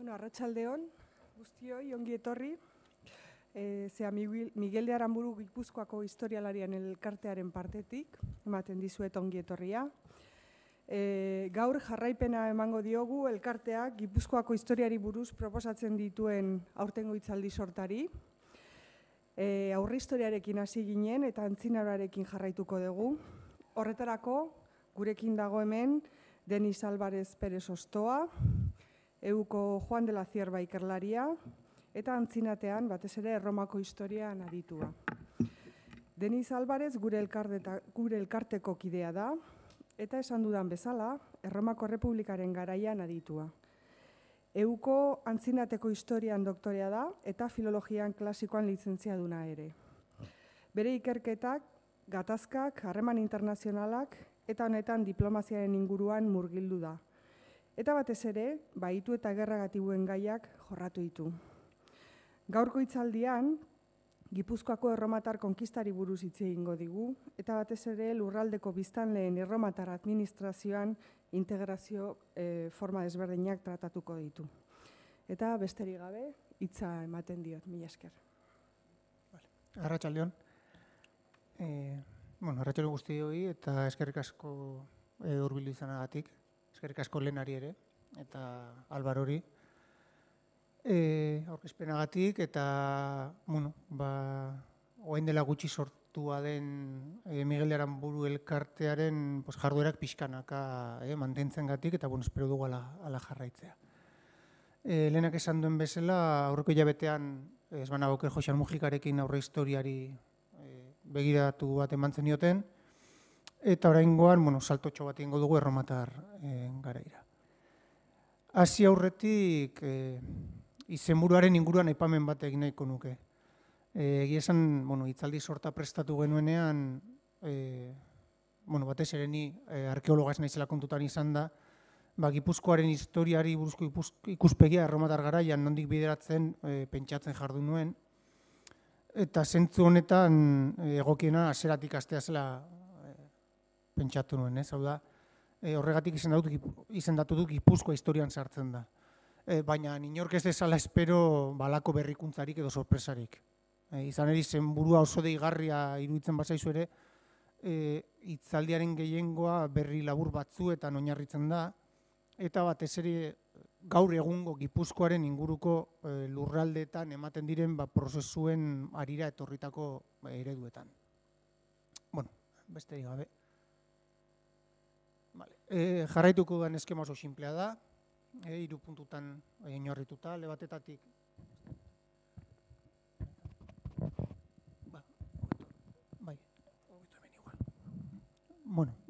Bueno, arratsaldeon, guztioi, ongi etorri. Zea Miguel de Aranburu Gipuzkoako historialarian elkartearen partetik, ematen dizuet ongi etorria. Gaur jarraipena emango diogu elkarteak Gipuzkoako historiari buruz proposatzen dituen aurtengo hitzaldi sortari. Aurre historiarekin hasi ginen eta antzinaroarekin jarraituko dugu. Horretarako, gurekin dago hemen Denis Álvarez Pérez Ostoa, Euko Juan de la Cierva ikerlaria, eta antzinatean batez ere Erromako historian aditua. Denis Álvarez gure elkarteko kidea da, eta esan dudan bezala, Erromako Errepublikaren garaian aditua. Euko antzinateko historian doktorea da, eta filologian klasikoan lizentziaduna ere. Bere ikerketak, gatazkak, harreman internazionalak, eta honetan diplomaziaren inguruan murgildu da. Eta batez ere, baitu eta gerragatibuen gaiak jorratu ditu. Gaurko hitzaldian, Gipuzkoako erromatar konkistari buruz hitz egingo digu, eta batez ere lurraldeko biztanleen erromatar administrazioan integrazio forma desberdinak tratatuko ditu. Eta besterik gabe, hitza ematen diot, mila esker. Arratsaldeon. Arratsalde guztioi eta eskerrik asko hurbildu izanagatik. Eskerrik asko Lenari ere, eta Albarori aurkezpenagatik, eta orain dela gutxi sortua den Miguel de Aranburu elkartearen jarduerak pixkanaka mantentzengatik, eta espero dugu ala jarraitzea. Lehenak esan duen bezala, aurreko hilabetean Esbanagoker Joxan Mujikarekin aurre historiari begiratu bat eman zenioten, eta oraingoan, saltotxo bat egingo dugu erromatar garaira. Hasi aurretik, izenburuaren inguruan aipamen bat egin nahiko nuke. Egia esan, hitzaldi sorta prestatu genuenean, batez ere ni arkeologa ez naizela kontutan izan da, Gipuzkoaren historiari buruzko ikuspegia erromatar garaian nondik bideratzen pentsatzen jardun nuen, eta zentzu honetan egokiena hasieratik hastea zela pentsatu nuen, hau da, horregatik izendatu du Gipuzkoa historian sartzen da. Baina inork ez dezala espero balako berrikuntzarik edo sorpresarik. Izan eri zenburua oso deigarria iruditzen bazaizu ere, hitzaldiaren gehiengoa berri labur batzuetan oinarritzen da, eta batez ere gaur egungo Gipuzkoaren inguruko lurraldeetan ematen diren prozesuen harira etorritako ereduetan. Besterik gabe. Jarraituko duen eskema oso sinplea da, 3 puntutan oinarrituta, alde batetatik.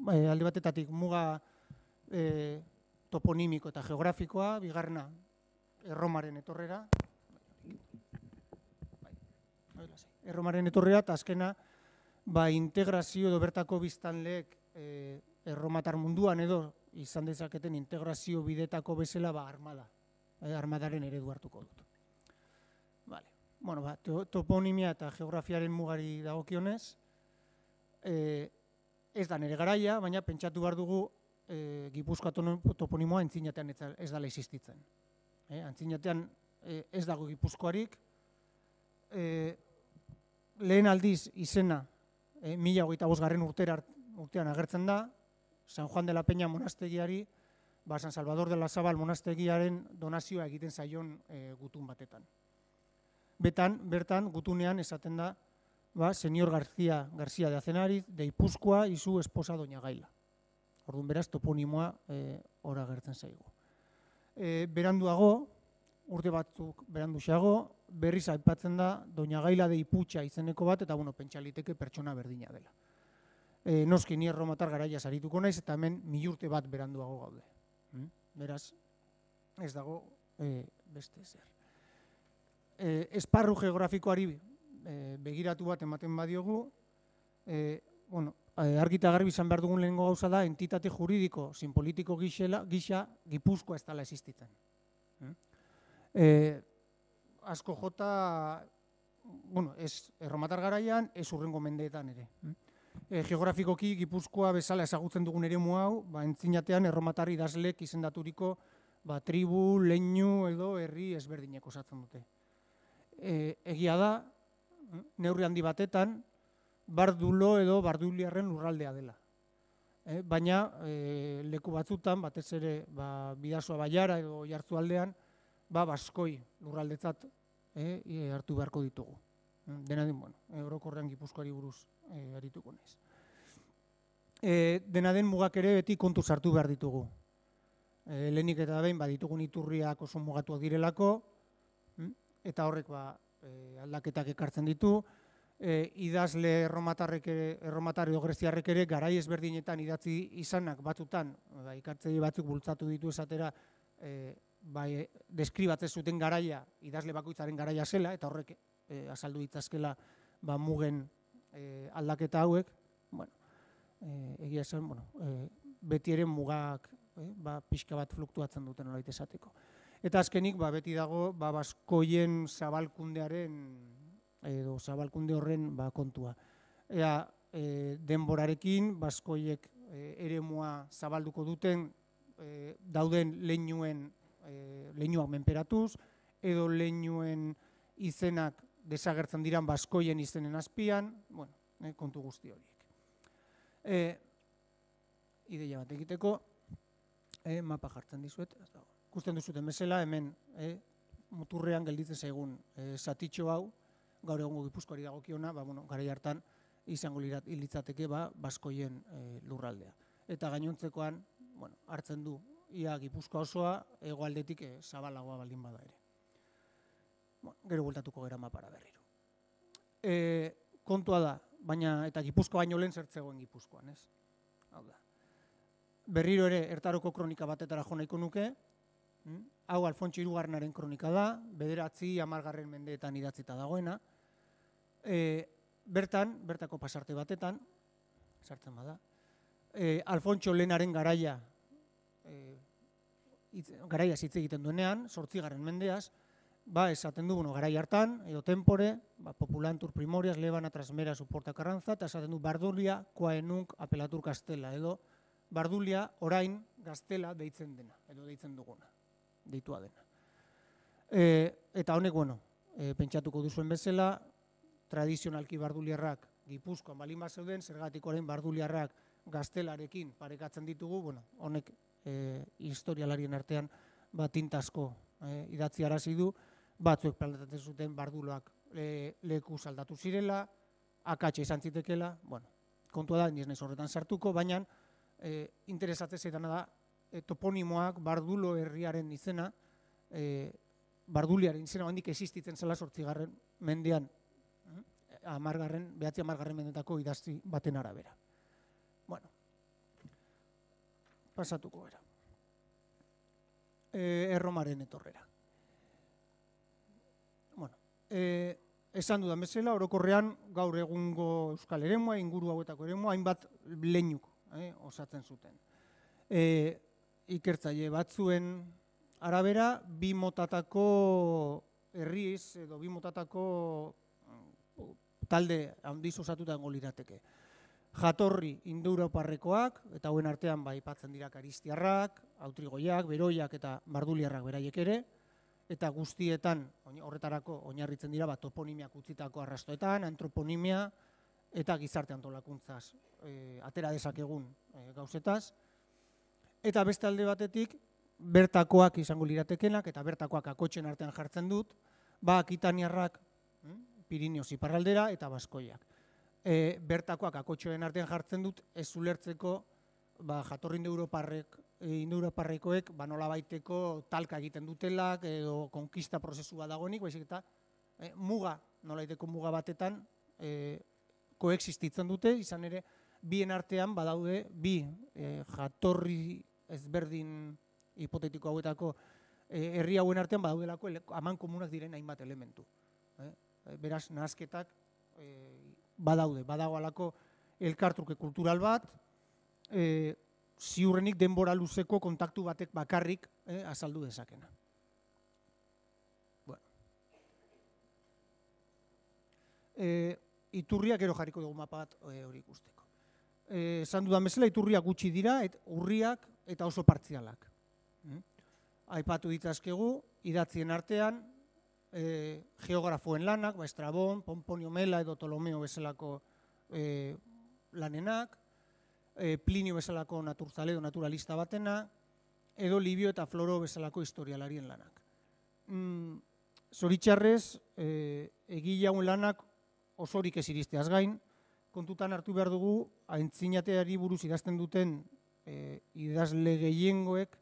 Alde batetatik muga toponimiko eta geografikoa, bigarrena Erromaren etorrera. Erromaren etorrera, eta azkena integrazio edo bertako biztanleek erromatar munduan edo izan dezaketen integrazio bidetako bezala armada. Armadaren eredu hartuko dut. Toponimia eta geografiaren mugari dagokionez, ez da nire garaia, baina pentsatu behar dugu Gipuzkoa toponimoa antzinatean ez dela existitzen. Antzinatean ez dago Gipuzkoarik, lehen aldiz izena 1025 urtean agertzen da, San Juan de la Peña monastegiari, San Salvador de la Zabal monastegiaren donazioa egiten zaion gutun batetan. Bertan, gutunean esaten da, Señor García de Azenariz, de Ipuzkoa y su esposa Doña Gaila. Orduan beraz, toponimoa hor agertzen zaigu. Beranduago, urte batzuk beranduxeago, berriz aipatzen da Doña Gaila de Iputxa izeneko bat, eta pentsaliteke pertsona berdina dela. Noski ni erromatar garaia sarituko naiz, eta hemen 1000 urte bat beranduago gaude. Beraz, ez dago beste ezer. Esparru geografikoari begiratu bat ematen badiogu, argi eta garbi izan behar dugun lehenengo gauza da, entitate juridiko, zin politiko gisa, Gipuzkoa ez dela existitzen. Asko jota, ez erromatar garaian, ez urrengo mendeetan ere. Geografikoki Gipuzkoa bezala ezagutzen dugun eremu hau, entzinatean erromatar idazlek izendaturiko tribu, leinu edo herri ezberdinek osatzen dute. Egia da, neurri handi batetan, bardulo edo barduliarren lurraldea dela. Baina leku batzutan, batez ere Bidasoa Baiara edo Oiartzualdean, baskoi lurraldetzat hartu beharko ditugu. Dena den, orokorrean Gipuzkoari buruz arituko naiz. Dena den mugak ere beti kontu sartu behar ditugu. Lehenik eta behin ditugun iturriak oso mugatuak direlako, eta horrek aldaketak ekartzen ditu. Idazle erromatar edo greziarrek ere garai ezberdinetan idatzi izanak batzutan, ikertzaile batzuk bultzatu ditu esatera, deskribatzen zuten garaia, idazle bakoitzaren garaia zela, eta horrek azaldu ditzazkela mugen aldaketa hauek. Egia esan, beti ere mugak pixka bat fluktuatzen duten nolait esateko. Eta azkenik, beti dago, baskoien zabalkundearen edo zabalkunde horren kontua. Ea denborarekin, baskoiek eremua zabalduko duten, dauden leinuak menperatuz, edo leinuen izenak desagertzen diran baskoien izenen azpian, kontu guzti horiek. Ideia bat egiteko, mapa jartzen dizuet, ikusten duzuten bezala, hemen muturrean gelditzen zaigun zatitxo hau, gaur egongo Gipuzkoari dagokiona, garai hartan izango litzateke baskoien lurraldea. Eta gainontzekoan hartzen du ia Gipuzkoa osoa, hegoaldetik zabalagoa baldin bada ere. Gero bueltatuko gara mapara berriro. Kontua da, baina eta Gipuzkoa baino lehen zertzegoen Gipuzkoan, ez? Hau da. Berriro ere Ertaroko kronika batetara jo nahiko nuke, hau Alfontso Hirugarrenaren kronika da, 9-10 mendeetan idatzita dagoena. Bertako pasarte batetan, sartzen bada, Alfontso Lehenaren garaiaz hitz egiten duenean, 8. mendeaz, esaten du, garai hartan, edo tempore, populantur primorias, lebana, trasmera, suporta karrantza, eta esaten du, bardulia, koaenunk, apelatur gaztela, edo bardulia orain gaztela deitzen dena, edo deitzen duguna, deitua dena. Eta honek, pentsatuko duzuen bezala, tradizionalki barduliarrak Gipuzkoan balin bat zeuden, zergatik orain barduliarrak gaztelarekin parekatzen ditugu, honek historialarien artean tintasko idatzi arazi du, batzuek plantatzen zuten barduloak leku aldatu zirela, akatsa izan zitekela, kontua da, nire horretan sartuko, baina interesatzen zaitana da toponimoak bardulo herriaren izena, barduliaren izena handik existitzen zela 8. mendean, 9-10 mendetako idazti baten arabera. Pasatuko gara. Erromaren etorrera. Esan dudan bezala, orokorrean gaur egungo euskal eremua, inguru hauetako eremua, hainbat leinuk osatzen zuten. Ikertzaile batzuen arabera, 2 motatako herriz edo 2 motatako talde handiz osatuta egongo lirateke. Jatorri indoeuroparrekoak, eta hauen artean aipatzen dira karistiarrak, autrigoiak, beroiak eta barduliarrak beraiek ere, eta guztietan horretarako oinarritzen dira toponimiak utzitako arrastoetan, antroponimia eta gizarte antolakuntzaz atera dezakegun gauzetaz. Eta beste alde batetik, bertakoak izango liratekenak eta bertakoak akotxen artean jartzen dut, akitaniarrak Pirineos iparraldera eta baskoiak. Bertakoak akotxoen artean jartzen dut, ez ulertzeko jatorri indoeuroparrekoek nolabaiteko talka egiten dutelak edo konkista prozesua dagoenik, baizik eta nolabaiteko muga batetan koexistitzen dute, izan ere bien artean badaude bi jatorri ezberdin hipotetiko hauetako herri hauen artean badaudelako aman komunak diren hainbat elementu. Beraz, nahasketak badago alako elkartruke kultural bat, ziurrenik denbora luzeko kontaktu batek bakarrik azaldu dezakena. Iturriak gero jarriko dugu mapa bat hori ikusteko. Esan dudan bezala, iturriak gutxi dira, urriak eta oso partzialak. aipatu ditzazkegu, idatzien artean, geografoen lanak, Estrabon, Pomponio Mela edo Ptolomeo bezalako lanenak, Plinio bezalako naturzale edo naturalista batena, edo Livio eta Floro bezalako historialarien lanak. Zoritxarrez, egile hauen lanak osorik ez iristeaz gain, kontutan hartu behar dugu, aintzinateari buruz idazten duten idazle gehiengoek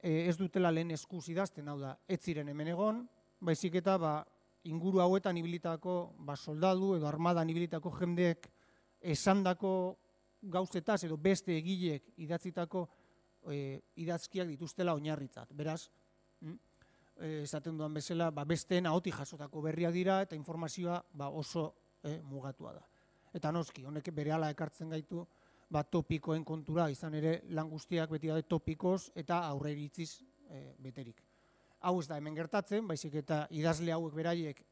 ez dutela lehen eskuz idazten, hau da, ez ziren hemen egon, baizik eta inguru hauetan ibilitako soldadu edo armadan ibilitako jendeek esandako gauzetaz edo beste egileek idatzitako idazkiak dituztela oinarritzat. Beraz, esaten duan bezala, besteen ahotik jasotako berriak dira eta informazioa oso mugatua da. Eta noski, honek berehala ekartzen gaitu topikoen kontura, izan ere lan guztiak beti daude topikoz eta aurre iritziz beterik. Hau ez da hemen gertatzen, baizik eta idazle hauek beraiek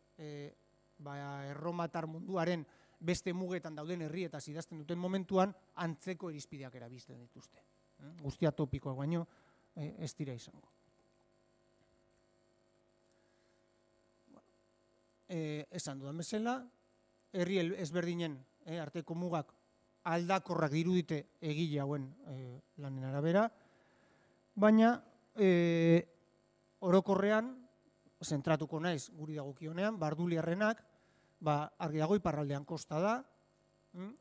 erromatar munduaren beste mugetan dauden herrietaz idazten duten momentuan antzeko irizpideak erabiltzen dituzte. Guztia topikoak baino ez dira izango. Esan dudan bezala, herri ezberdinen arteko mugak aldakorrak dirudite egile hauen lanen arabera, baina orokorrean, zentratuko naiz guri dagokionean, Barduliarrenak, argi dago iparraldean kosta da,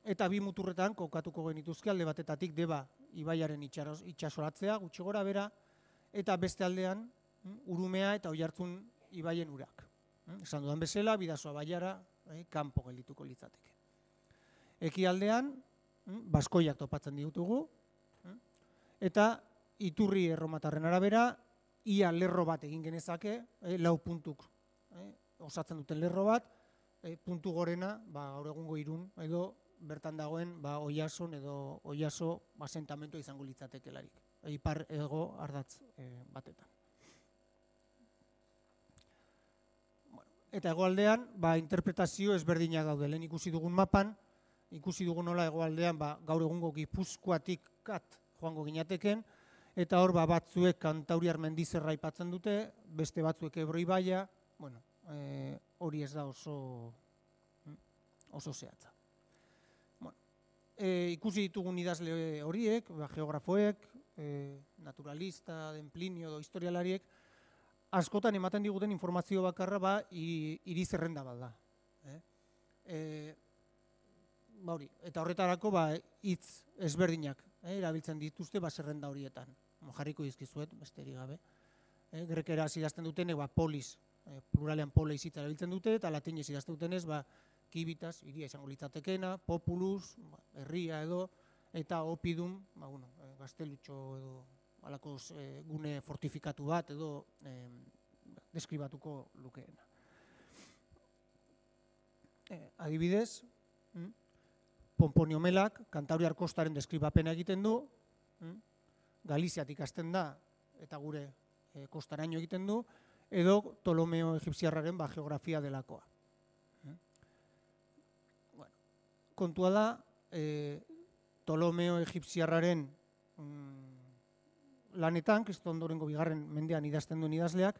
eta bi muturretan kokatuko genituzke alde batetatik Deba ibaiaren itsasoratzea, gutxi gora bera, eta beste aldean Urumea eta Oiartzun ibaien urak. Esan dudan bezala, Bidasoa baiara kanpo geldituko litzateke. Ekialdean, Baskoiak topatzen ditugu, eta iturri erromatarren arabera, ia lerro bat egin genezake, 4 puntuk osatzen duten lerro bat, puntu gorena, gaur egungo Irun, edo bertan dagoen Oiason edo Oiaso asentamentu izango litzatekelarik, ipar ego ardatz batetan. Eta hegoaldean, interpretazio ezberdinak daude. Lehen ikusi dugun mapan, ikusi dugun nola hegoaldean gaur egungo Gipuzkoatik joango ginateken, eta hor batzuek Kantauriar mendizerra aipatzen dute, beste batzuek Ebro ibaia, hori ez da oso zehatza. Ikusi ditugun idazle horiek, geografoek, naturalista, den Plinio edo historialariek, askotan ematen diguten informazio bakarra hiri zerrenda bat da. Eta horretarako hitz ezberdinak erabiltzen dituzte zerrenda horietan. Jarriko dizkizuet, besterik gabe. Grekeraz idazten dutenek polis, pluralean polis hitza erabiltzen dute, eta latinez idazten dutenez kibitas, hiria izango litzatekena, populus, herria edo, eta opidum, gaztelutxo edo halako gune fortifikatu bat edo deskribatuko lukeena. Adibidez, Pomponio Melak Kantauriar kostaren deskribapena egiten du, Galiziatik hasten da eta gure kostaraino egiten du, edo Ptolomeo egipziarraren geografia delakoa. Kontua da, Ptolomeo egipziarraren lanetan, Kristo ondorengo 2. mendean idazten duen idazleak,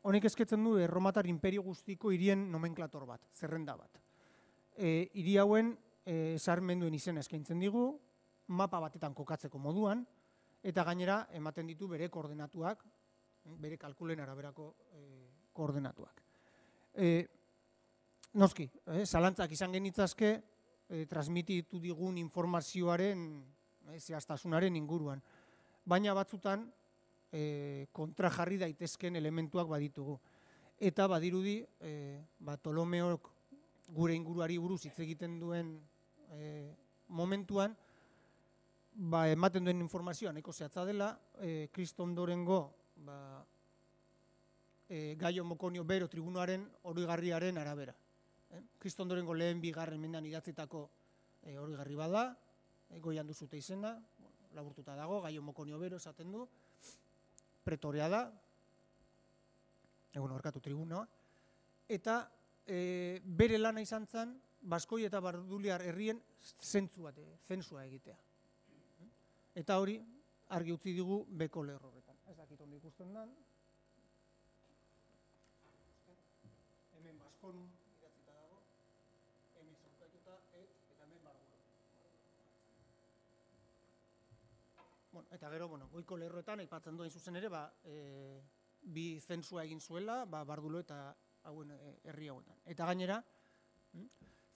honek esketzen du erromatar imperio guztiko hirien nomenklator bat, zerrenda bat. Hiri hauen sarmenduen izena eskaintzen digu, mapa batetan kokatzeko moduan, eta gainera ematen ditu bere koordenatuak, bere kalkulen araberako koordenatuak. Noski, zalantzak izan genitzazke, transmititu digun informazioaren zehaztasunaren inguruan. Baina batzutan kontra jarri daitezken elementuak baditugu. Eta badirudi, Ptolomeok gure inguruari buruz hitz egiten duen momentuan, ematen duen informazioa nahiko zehatza dela, Kristo ondorengo Gaio Mokonio Bero tribunoaren oroigarriaren arabera. Kristo ondorengo 2. mendean idatzitako oroigarri bada, goian duzute izena, laburtuta dago, Gaio Mokonio Bero esaten du, pretorea da, orkatu tribunoa, eta bere lana izan zen, Baskoi eta Barduliar herrien zentsua egitea. Eta hori argi utzi digu beko lerroretan. ondo ikusten dan. Hemen Baskonum idatzita dago, hemen zaukatuta, eta hemen Barbulo. Bueno, eta gero, goiko lerroetan, aipatzen duen zuzen ere, bi zentsua egin zuela, Bardulo eta hauen herri hauetan. Eta gainera,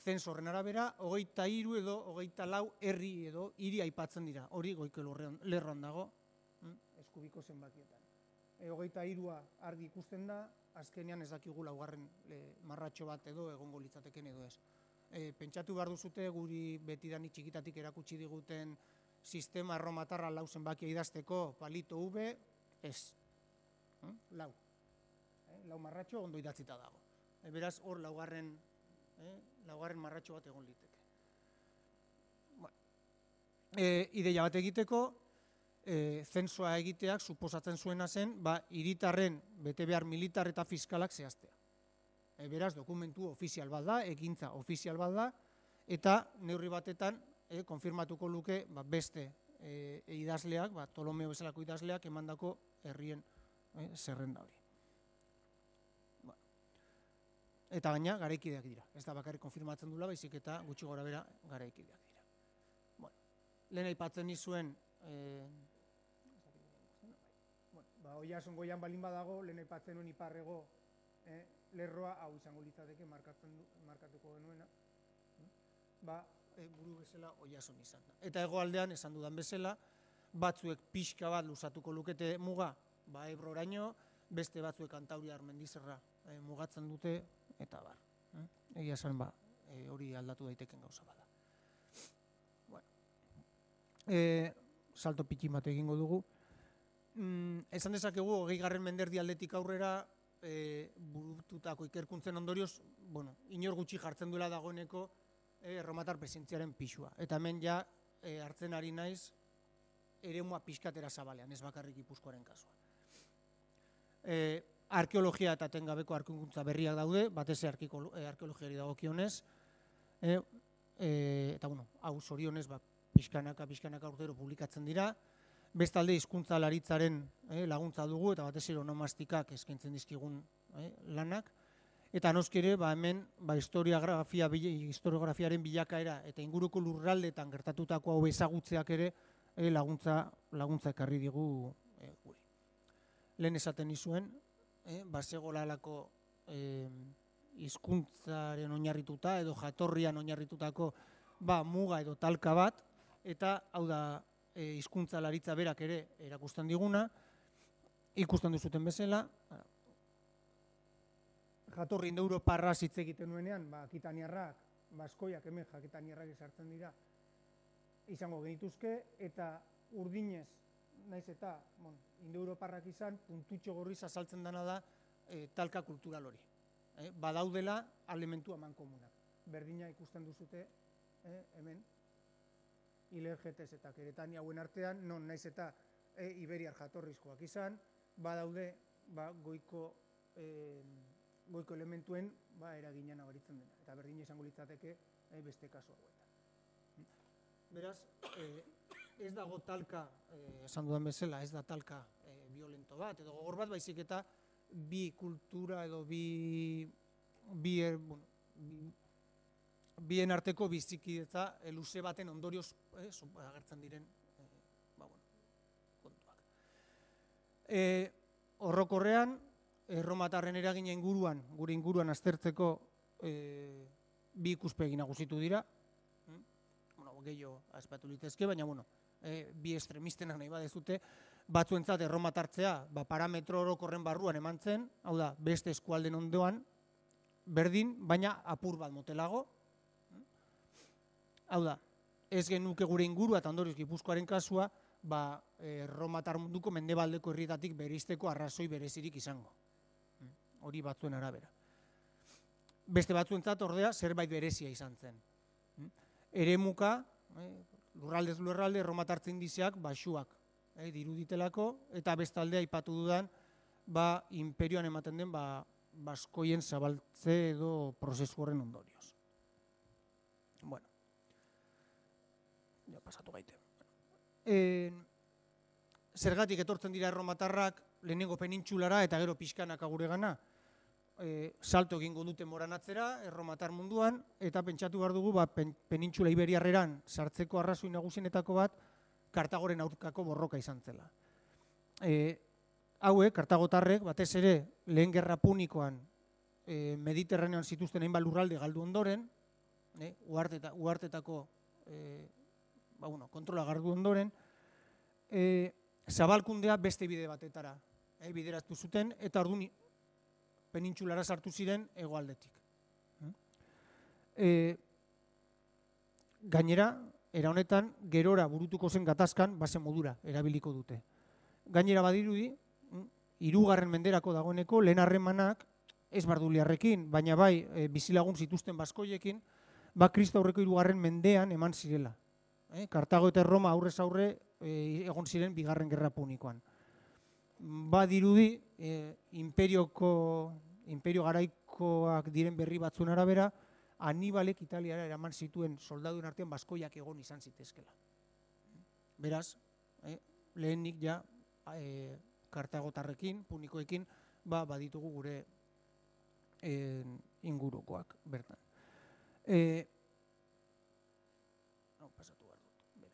zenso horren arabera, 23 edo 24 herri edo hiri aipatzen dira. Hori goiko lerroan dago, eskubiko zenbakietan. 23a argi ikusten da, azkenean ez dakigu laugarren marratxo bat edo egongo litzateken edo ez. Pentsatu behar duzute guri betidanik txikitatik erakutsi diguten sistema erromatarra lau zenbakia idazteko palito V, ez. Lau marratxo ondo idatzita dago. Beraz, hor laugarren marratxo bat egon liteke. Ideia bat egiteko, zensoa egiteak suposatzen zuena zen, hiritarren betebehar militar eta fiskalak zehaztea. Beraz, dokumentu ofizial bat da, ekintza ofizial bat da, eta neurri batetan konfirmatuko luke beste idazleak, Ptolomeo bezalako idazleak emandako herrien zerrenda hori. Eta gaina garaikideak dira. Ez da bakarrik konfirmatzen dula, baizik eta gutxi gora bera garaikideak dira. Lehen aipatzen nizuen, Oiartzun goian balin badago, lehen aipatzen nuen iparrego lerroa, hau izango litzateke markatuko genuena, buru bezala Oiartzun izan da. Eta hegoaldean, esan dudan bezala, batzuek pixka bat luzatuko lukete muga, Ebroraino, beste batzuek Kantauriar mendizerra mugatzen dute, eta bar. Egia esan, hori aldatu daiteken gauza bada. Salto pitxin bat egingo dugu. Esan dezakegu, 20. menderdi aldetik aurrera, burututako ikerkuntzen ondorioz, inor gutxi jartzen duela dagoeneko erromatar presentziaren pixua. Eta hemen ja hartzen ari naiz eremua pixkatera zabalean, ez bakarrik Gipuzkoaren kasua. Arkeologia eta tengabeko arkeolkuntza berriak daude, batez arkeologiari dagokionez, eta hau zorionez pixkanaka urtero publikatzen dira, bestalde hizkuntzalaritzaren laguntza dugu, eta batez onomastikak eskaintzen dizkigun lanak, eta noski ere hemen historiografiaren bilakaera eta inguruko lurraldeetan gertatutako hau ezagutzeak ere laguntza ekarri digu guri. Lehen esaten nizuen, bazegolalako hizkuntzaren oinarrituta edo jatorrian oinarritutako muga edo talka bat, eta hau da hizkuntzalaritza berak ere erakusten diguna, ikusten duzuten bezala, jatorri indoeuroparraz hitz egiten nuenean, akitaniarrak, baskoiak hemen akitaniarrak esartzen dira, izango genituzke, eta urdinez, naiz eta indoeuroparrak izan, puntutxo gorriz azaltzen dena da talka kultural hori. Badaudela elementu amankomunak. Berdina ikusten duzute hemen, Ilergetez eta Keretania hauen artean, non naiz eta iberiar jatorrizkoak izan, badaude goiko elementuen eragina nabaritzen dena. Eta berdina izango litzateke beste kasu hauetan. Beraz, ez dago talka, esan dudan bezala, ez da talka violento bat, edo gogor bat, baizik eta bi kultura edo bien arteko bizikidetza luze baten ondorioz agertzen diren kontuak. Orokorrean, erromatarren eragina inguruan, gure inguruan aztertzeko bi ikuspegi nagusitu dira, gehiago azpatu litezke, baina bi estremistenak nahi badezute, batzuentzat erromatartzea parametro orokorren barruan eman zen, hau da, beste eskualden ondoan, berdin, baina apur bat motelago. Hau da, ez genuke gure ingurua eta ondorioz Gipuzkoaren kasua, erromatar munduko mendebaldeko herrietatik bereizteko arrazoi berezirik izango. Hori batzuen arabera. Beste batzuentzat ordea zerbait berezia izan zen. Eremuka, lurraldez lurralde, erromatartze indizeak baxuak diruditelako, eta bestalde aipatu dudan, imperioan ematen den baskoien zabaltze edo prozesu horren ondorioz. Bueno, ja pasatu gaite. zergatik etortzen dira erromatarrak lehenengo penintsulara eta gero pixkanaka guregana, salto egingo dute moranatzera, erromatar munduan, eta pentsatu behar dugu, penintxula iberiarreran sartzeko arrazoi nagusienetako bat, Kartagoren aurkako borroka izan zela. Hauek, kartagotarrek, batez ere, lehen gerra punikoan Mediterranean zituzten hainbat lurralde galdu ondoren, uhartetako kontrola galdu ondoren, zabalkundea beste bide batetara bideratu zuten, eta orduan penintsulara sartu ziren hegoaldetik. Gainera, era honetan, gerora burutuko zen gatazkan, bazen modura, erabiliko dute. Gainera badirudi, hirugarren menderako dagoeneko, lehen harremanak, ez barduliarrekin, baina bai bizilagun zituzten baskoiekin, Kristo aurreko hirugarren mendean eman zirela. Kartago eta Roma aurrez aurre egon ziren bigarren gerra punikoan. Badirudi, imperio garaikoak diren berri batzuen arabera, Hanibalek Italiara eraman zituen soldaduen artean baskoiak egon izan zitezkela. Beraz, lehenik ja kartagotarrekin, punikoekin, baditugu gure ingurukoak bertan. Pasatu behar dut,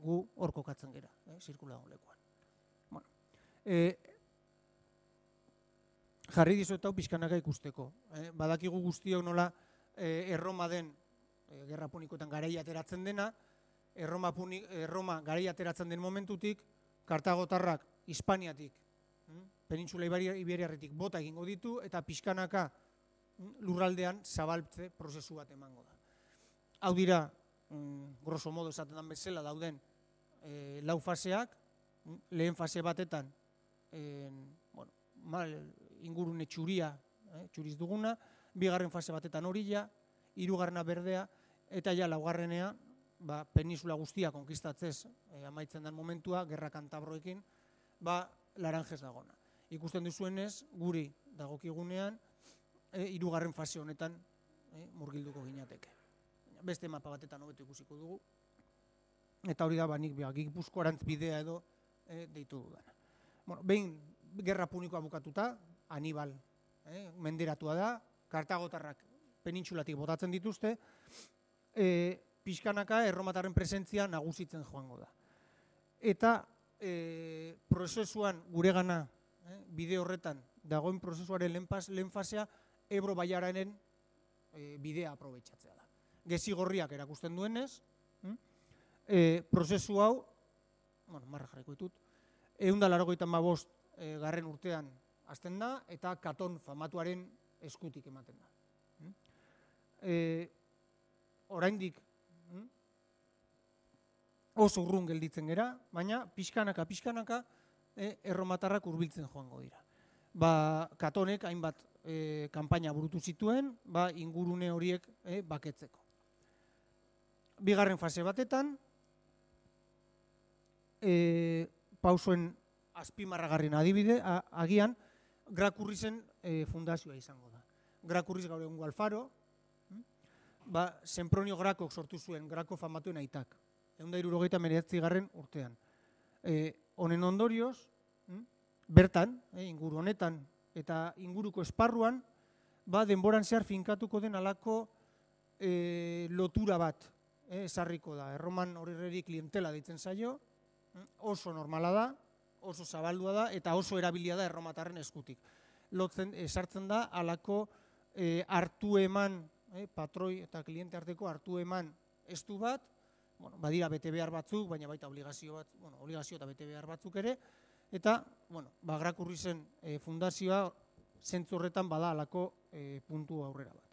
gu hor kokatzen gera, zirkula lekuan. Jarri dizuet hau pixkanaka ikusteko. Badakigu guztiok nola Erroma den gerra punikoetan garaia ateratzen dena, Erroma garaia ateratzen den momentutik, kartagotarrak Hispaniatik, penintxula iberiarretik bota egingo ditu, eta pixkanaka lurraldean zabaltze prozesu bat emango da. Hau dira, grosso modo esaten den bezala dauden lau faseak, lehen fase batetan ingurune txuria, txuriz duguna, bigarren fase batetan horila, hirugarrena berdea, eta ja laugarrenea, peninsula guztia konkistatzez amaitzen den momentua, gerra kantabroekin, laranjez dagona. Ikusten duzuenez, guri dagokigunean, hirugarren fase honetan murgilduko ginateke. Beste mapa batetan hobeto ikusiko dugu, eta hori da, nik Gipuzkoarantz bidea edo deitu dudana. Behin gerra punikoa bukatuta, Hanibal menderatua da, kartagotarrak penintxulatik botatzen dituzte, pixkanaka erromatarren presentzia nagusitzen joango da. Eta prozesuan guregana, bide horretan, dagoen prozesuaren lehen fasea, Ebro bailararen bidea aprobetxatzea da. Gezi gorriak erakusten duenez, prozesu hau, marra jarriko ditut, 185 garren urtean hasten da, eta Katon famatuaren eskutik ematen da. Oraindik oso urrun gelditzen gera, baina pixkanaka erromatarrak hurbiltzen joango dira. Katonek hainbat kanpaina burutu zituen, ingurune horiek baketzeko. Bigarren fase batetan, pausoen azpimarragarrien adibide, agian, Grakurrizen fundazioa izango da. Grakurriz gaur egungo Alfaro, Sempronio Grakok sortu zuen, Grako famatuen aitak, 1969 urtean. Honen ondorioz, bertan, inguru honetan, eta inguruko esparruan, denboran zehar finkatuko den alako lotura bat esarriko da. Erroman horreri klientela deitzen zaio, oso normala da, oso zabaldua da, eta oso erabilia da erromatarren eskutik. Esartzen da, alako hartu eman, patroi eta kliente arteko hartu eman estu bat, badira bete behar batzuk, baina baita obligazio eta bete behar batzuk ere, eta Grakurrizen fundazioa zentzu horretan bada alako puntu aurrera bat.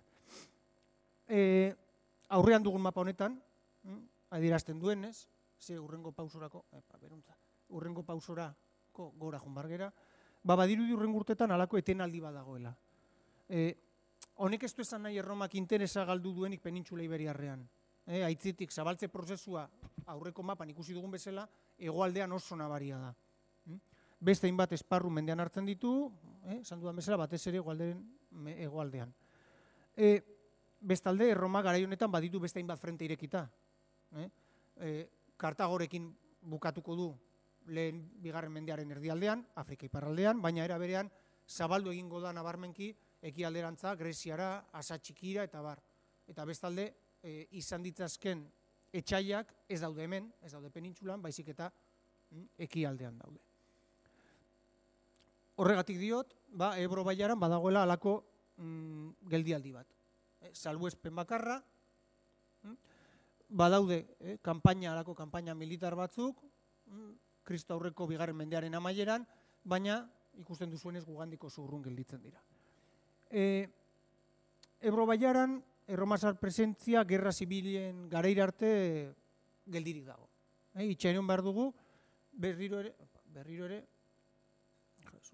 Aurrean dugun mapa honetan, adierazten duenez, urrengo pausorako gora junbargera, badirudi urrengo urtetan alako etenaldi bat dagoela. Honek ez du esan nahi Erromak interesa galdu duenik penintxula iberiarrean. Aitzitik zabaltze prozesua aurreko mapan ikusi dugun bezala, hegoaldean oso nabaria da. Beste hainbat esparru mendean hartzen ditu, esan dudan bezala, batez ere hegoaldean. Bestalde, Erroma garai honetan baditu beste hainbat frente irekita. Kartagorekin bukatuko du lehen bigarren mendearen erdialdean, Afrika iparraldean, baina era berean zabaldu egingo da nabarmenki ekialderantza, Greziara, Asa Txikira eta bar. Eta bestalde, izan ditzazken etxaiak ez daude hemen, ez daude penintsulan, baizik eta ekialdean daude. Horregatik diot, Ebro bailaran badagoela halako geldialdi bat. Salbuespen bakarra, badaude halako kanpaina militar batzuk, Kristo aurreko bigarren mendearen amaieran, baina ikusten duzuenez Gugandiko urrun gelditzen dira. Ebro bailaran, erromazar presentzia gerra zibilen garaira arte geldirik dago. Itxaron behar dugu, berriro ere,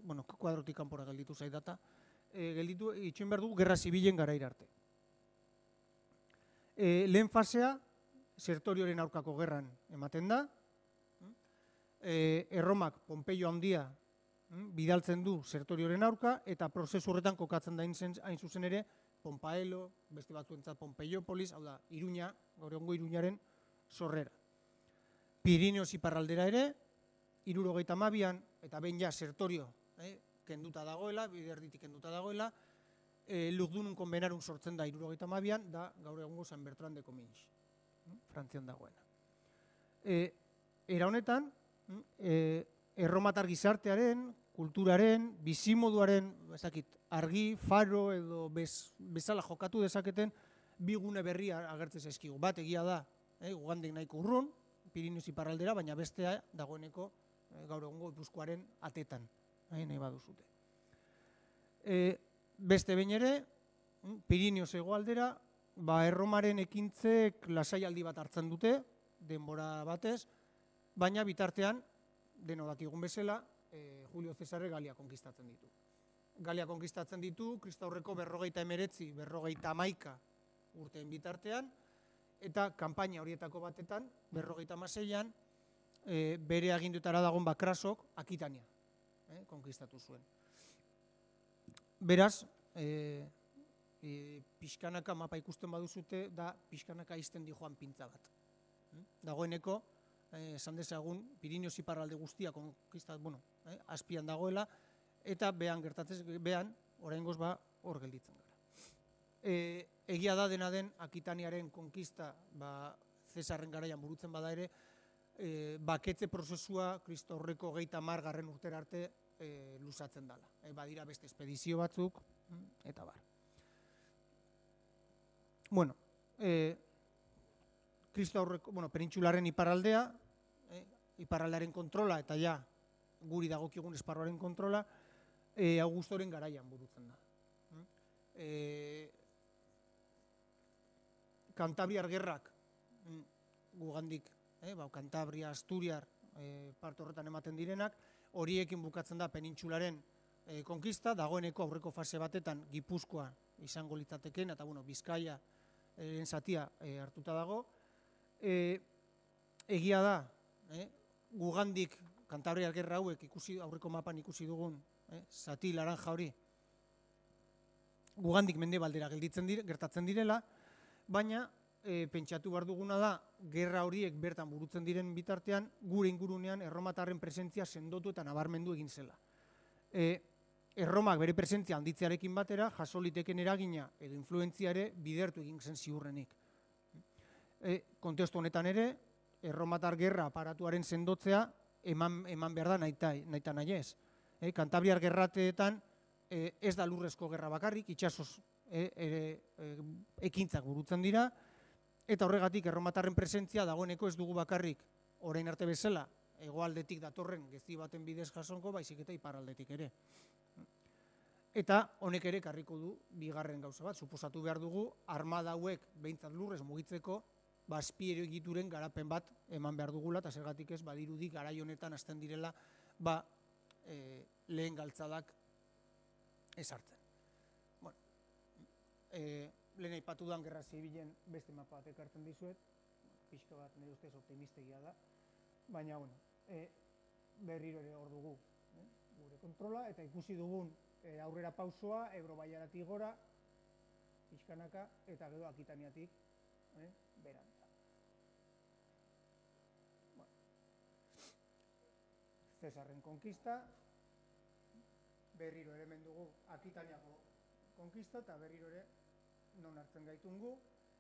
bueno, kuadrotik kanpora gelditu zaidata, itxaron behar dugu gerra zibilen garaira arte. Lehen fasea, Sertorioren aurkako gerran ematen da, Erromak Pompeio handia bidaltzen du Sertorioren aurka, eta prozesu horretan kokatzen da hain zuzen ere, Pompaelo, beste batzuentzat Pompeiopolis, hau da, Iruña, gaur egungo Iruñaren sorrera. Pirineos iparraldera ere, 72an, eta behin ja Sertorio kenduta dagoela, biderditik kenduta dagoela, Lugdunun konbenarun sortzen da 72an, da gaur egungo San Bertran de Comminges, Frantzian dagoena. Era honetan, erromatar gizartearen, kulturaren, bizimoduaren, argi, faro edo bezala jokatu dezaketen bi gune berria agertzen zaizkigu. Bat egia da, Gugandik nahiko urrun, Pirineos iparraldera, baina bestea dagoeneko gaur egungo Gipuzkoaren atetan, nahi baduzute. Beste behin ere, Pirineos hegoaldera, Erromaren ekintzek lasaialdi bat hartzen dute, denbora batez, baina bitartean, deno dakigun bezala, Julio Cesare Galia konkistatzen ditu. Galia konkistatzen ditu, Kristo aurreko 59, 51 urteen bitartean, eta kanpaina horietako batetan, 56an, bere agindutara dagoen Bakrasok Akitania konkistatu zuen. Beraz, pixkanaka mapa ikusten baduzute, da pixkanaka izten di joan pintza bat. Dagoeneko, esan dezagun, Pirineos iparralde guztia azpian dagoela, eta behan, oraingoz hor gelditzen gara. Egia da dena den Akitaniaren konkista Zesarren garaian burutzen bada ere, baketze prozesua Kristo aurreko 30. urtera arte luzatzen dela. Badira beste espedizio batzuk, eta bar. Bueno, Kristo aurreko, penintsularen iparraldea, iparraldearen kontrola, eta ja, guri dagokigun esparruaren kontrola, Augustoren garaian burutzen da. Kantabriar gerrak, Gugandik, Kantabria, Asturiar, parte horretan ematen direnak, horiekin bukatzen da penintsularen konkista, dagoeneko aurreko fase batetan Gipuzkoa izango litzateken, eta Bizkaia zatia hartuta dago. Egia da, Gugandik, Kantabriar gerra hauek aurreko mapan ikusi dugun, zati laranja hori, Gugandik mendebaldera gertatzen direla, baina pentsatu behar duguna da, gerra horiek bertan burutzen diren bitartean, gure ingurunean erromatarren presentzia sendotu eta nabarmendu egin zela. Erromak bere presentzia handitzearekin batera, jaso liteken eragina edo influentzia ere bidertu egin zen ziurrenik. Kontestu honetan ere, erromatar gerra aparatuaren sendotzea eman behar da nahita nahi ez. Kantabriar gerrateetan ez da lurrezko gerra bakarrik, itxasoz ekintzak burutzen dira, eta horregatik erromatarren presentzia dagoeneko ez dugu bakarrik orain arte bezala hegoaldetik datorren gezi baten bidez jasonko, baizik eta iparraldetik ere. Eta honek ere karriko du bigarren gauza bat, suposatu behar dugu armada hauek behintzat lurrez mugitzeko azpiero egituren garapen bat eman behar dugula, eta zergatik ez badirudi garai honetan hasten direla lehen galtzadak ezartzen. Lehen aipatu duan gerra zibilen beste mapa bat ekartzen dizuet, pixka bat nire ustez optimistegia da, baina berriro ere hor dugu gure kontrola, eta ikusi dugun aurrera pausoa, Ebro bailaratik gora, pixkanaka, eta gero Akitaniatik berantza. Cesarren konkista, berriro ere hemen dugu Akitaniako konkista, eta berriro ere non hartzen gaitungu,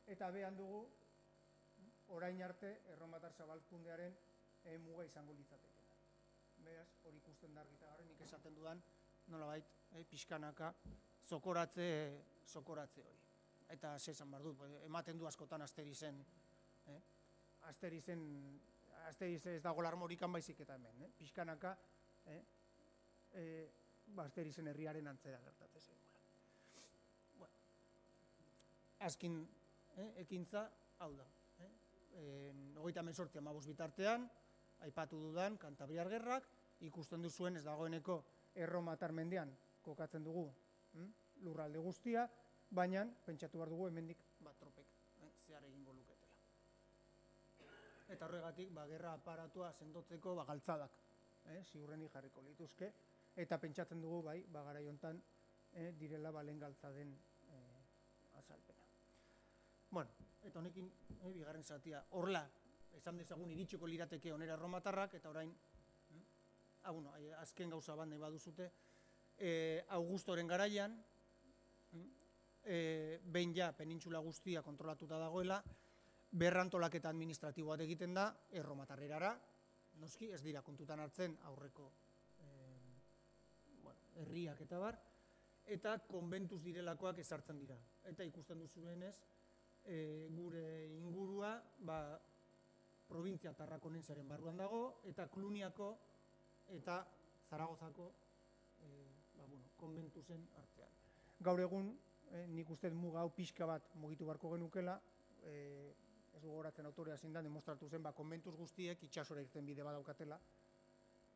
eta behan dugu orain arte Erromatar zabalkundearen muga izango litzateke. Beraz, hori ikusten da argita garen, nik esaten dudan, nolabait, pixkanaka, zokoratze hori. Eta esan behar dut, ematen du askotan Asterizen ez dago larmorikan baizik eta hemen, pixkanaka, Asterizen herriaren antzera gertatzen zegoela. Azkin ekintza, hau da. 38-15 bitartean, aipatu dudan Kantabriar Gerrak, ikusten duzuen ez dagoeneko Erromatar mendean kokatzen dugu lurralde guztia, baina pentsatu behar dugu hemendik tropek zehar egingo luketela. Eta horregatik, gerra aparatua sendotzeko galtzadak ziurrenik jarriko lituzke, eta pentsatzen dugu garai hontan direla lehen galtzaden azalpena. Bueno, eta honekin bigarren zatia, horrela, esan dezagun iritsiko lirateke onera erromatarrak, eta orain, azken gauza bat nahi baduzute, Augustoren garaian, behin ja penintxula guztia kontrolatuta dagoela, berrantolaketa administratiboa egiten da erromatarrerara, noski ez dira kontutan hartzen aurreko herriak eta bar, eta konbentuz direlakoak ezartzen dira. Eta ikusten duzuenez, gure ingurua provintzia Tarrakonensearen barruan dago, eta Kluniako eta Zaragozako konbentuzen artean. Gaur egun, nik uste muga hau pixka bat mugitu barko genukela, ez dugu horatzen autorea zindan, demostratu zen, konbentuz guztiek itxasora irten bide badaukatela,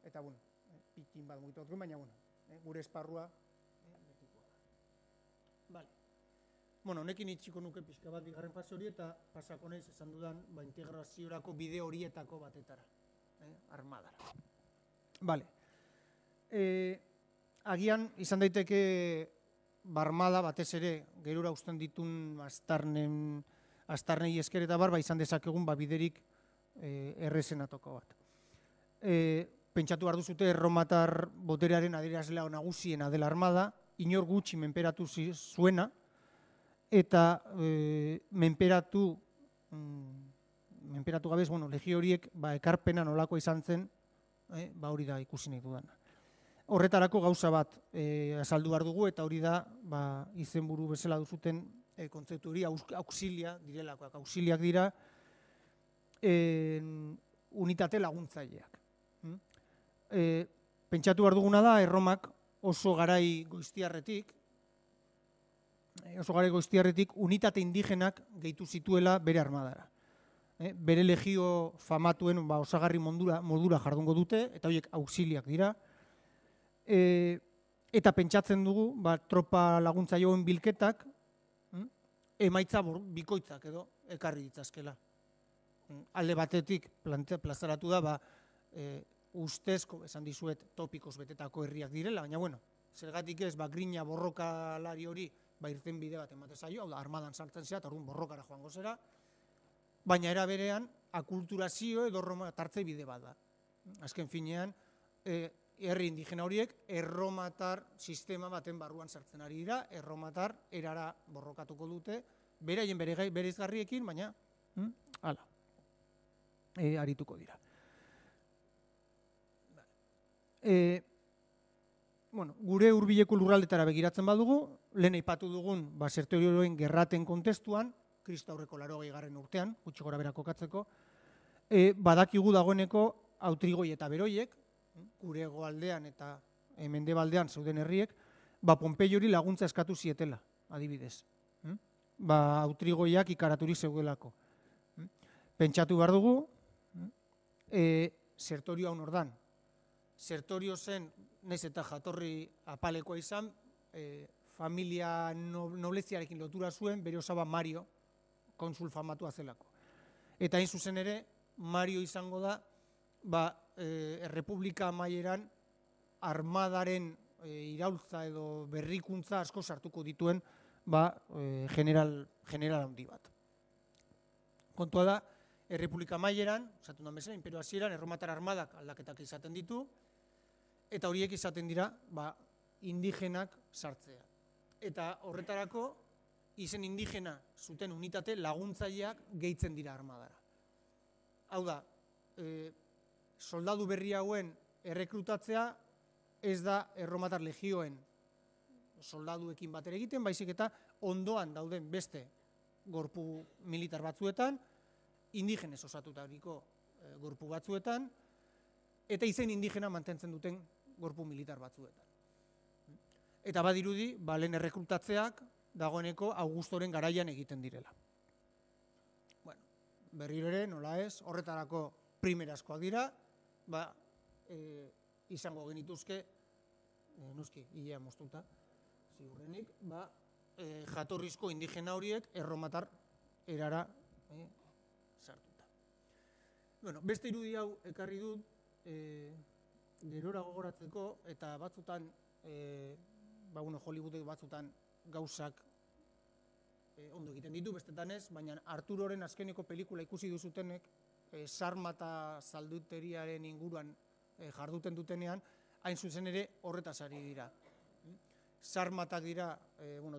eta, pikin bat mugitu bat baina, gure esparrua betikoa da. Honekin itxiko nuke pixka bat bigarren fase hori, eta pasako naiz esan dudan integraziorako bide horietako batetara, armadara. Agian, izan daiteke armada batez ere, gerura usten ditun astarnei esker eta izan dezakegun biderik errezenatoko bat. Pentsatu behar duzute erromatar boterearen adierazlea nagusiena dela armada, inor gutxi menperatu zuena, eta menperatu gabez, legio horiek ekarpena nolako izan zen, hori da ikusi nahi dudana. Horretarako gauza bat azaldu behar dugu, eta hori da izenburu bezala duzuten kontzeptu hori auxilia direlakoak. Auxiliak dira unitate laguntzaileak. Pentsatu behar duguna da, Erromak oso garai goiztiarretik unitate indigenak gehitu zituela bere armadara. Bere legio famatuen osagarri modura jardungo dute, eta horiek auxiliak dira. Eta pentsatzen dugu, tropa laguntzaileen bilketak emaitza bikoitzak edo ekarri ditzazkela. Alde batetik plazaratu da, ustezko, esan dizuet, topikoz betetako herriak direla, baina, zergatik ez, grina borrokalari hori irten bide bat ematen zaio, hau da, armadan sartzen zera, eta orduan borrokara joango zera, baina era berean, akulturazio edo tartze bide bat da. Azken finean, herri indigena horiek erromatar sistema baten barruan sartzen ari dira, erromatar erara borrokatuko dute, beraien bereizgarriekin, baina, arituko dira. Gure hurbileko lurraldetara begiratzen badugu, lehen aipatu dugun Sertorioen gerraten kontestuan, Kristo aurreko 80. urtean, gutxi gora bera kokatzeko, badakigu dagoeneko Autrigoi eta Beroiek, gure hegoaldean eta mendebaldean zeuden herriek, Ponpeiori laguntza eskatu zietela, adibidez. Autrigoiak ikaraturik zeudelako. Pentsatu behar dugu, Sertorio hau nordan. Sertorio zen, naiz eta jatorri apalekoa izan, familia nobleziarekin lotura zuen, bere osaba Mario, konsul famatua zelako. Eta hain zuzen ere, Mario izango da, Errepublika amaieran armadaren iraultza edo berrikuntza asko sartuko dituen general handi bat. Kontua da, Errepublika amaieran, esatu da bezala, imperio hasieran, erromatar armadak aldaketak izaten ditu, eta horiek izaten dira indigenak sartzea. Eta horretarako izen indigena zuten unitate laguntzaileak gehitzen dira armadara. Hau da, soldadu berri hauen errekrutatzea ez da erromatar legioen soldaduekin batera egiten, baizik eta ondoan dauden beste gorpu militar batzuetan, indigenez osatutariko gorpu batzuetan, eta izen indigena mantentzen duten gorpu militar batzuetan. Eta badirudi, lehen errekrutatzeak dagoeneko Augustoren garaian egiten direla. Bueno, berriro ere, nola ez, horretarako primerazkoak dira, izango genituzke, noski, hilea moztuta, ziurrenik, jatorrizko indigena horiek erromatar erara sartuta. Bueno, beste irudi hau ekarri dut, gerora gogoratzeko, eta batzutan, Hollywoodek batzutan gauzak ondo egiten ditu, bestetan ez, baina Arturoren azkeneko pelikula ikusi duzutenek, sarmata zalduteriaren inguruan jarduten dutenean, hain zuzen ere horretaz ari dira. Sarmatak dira,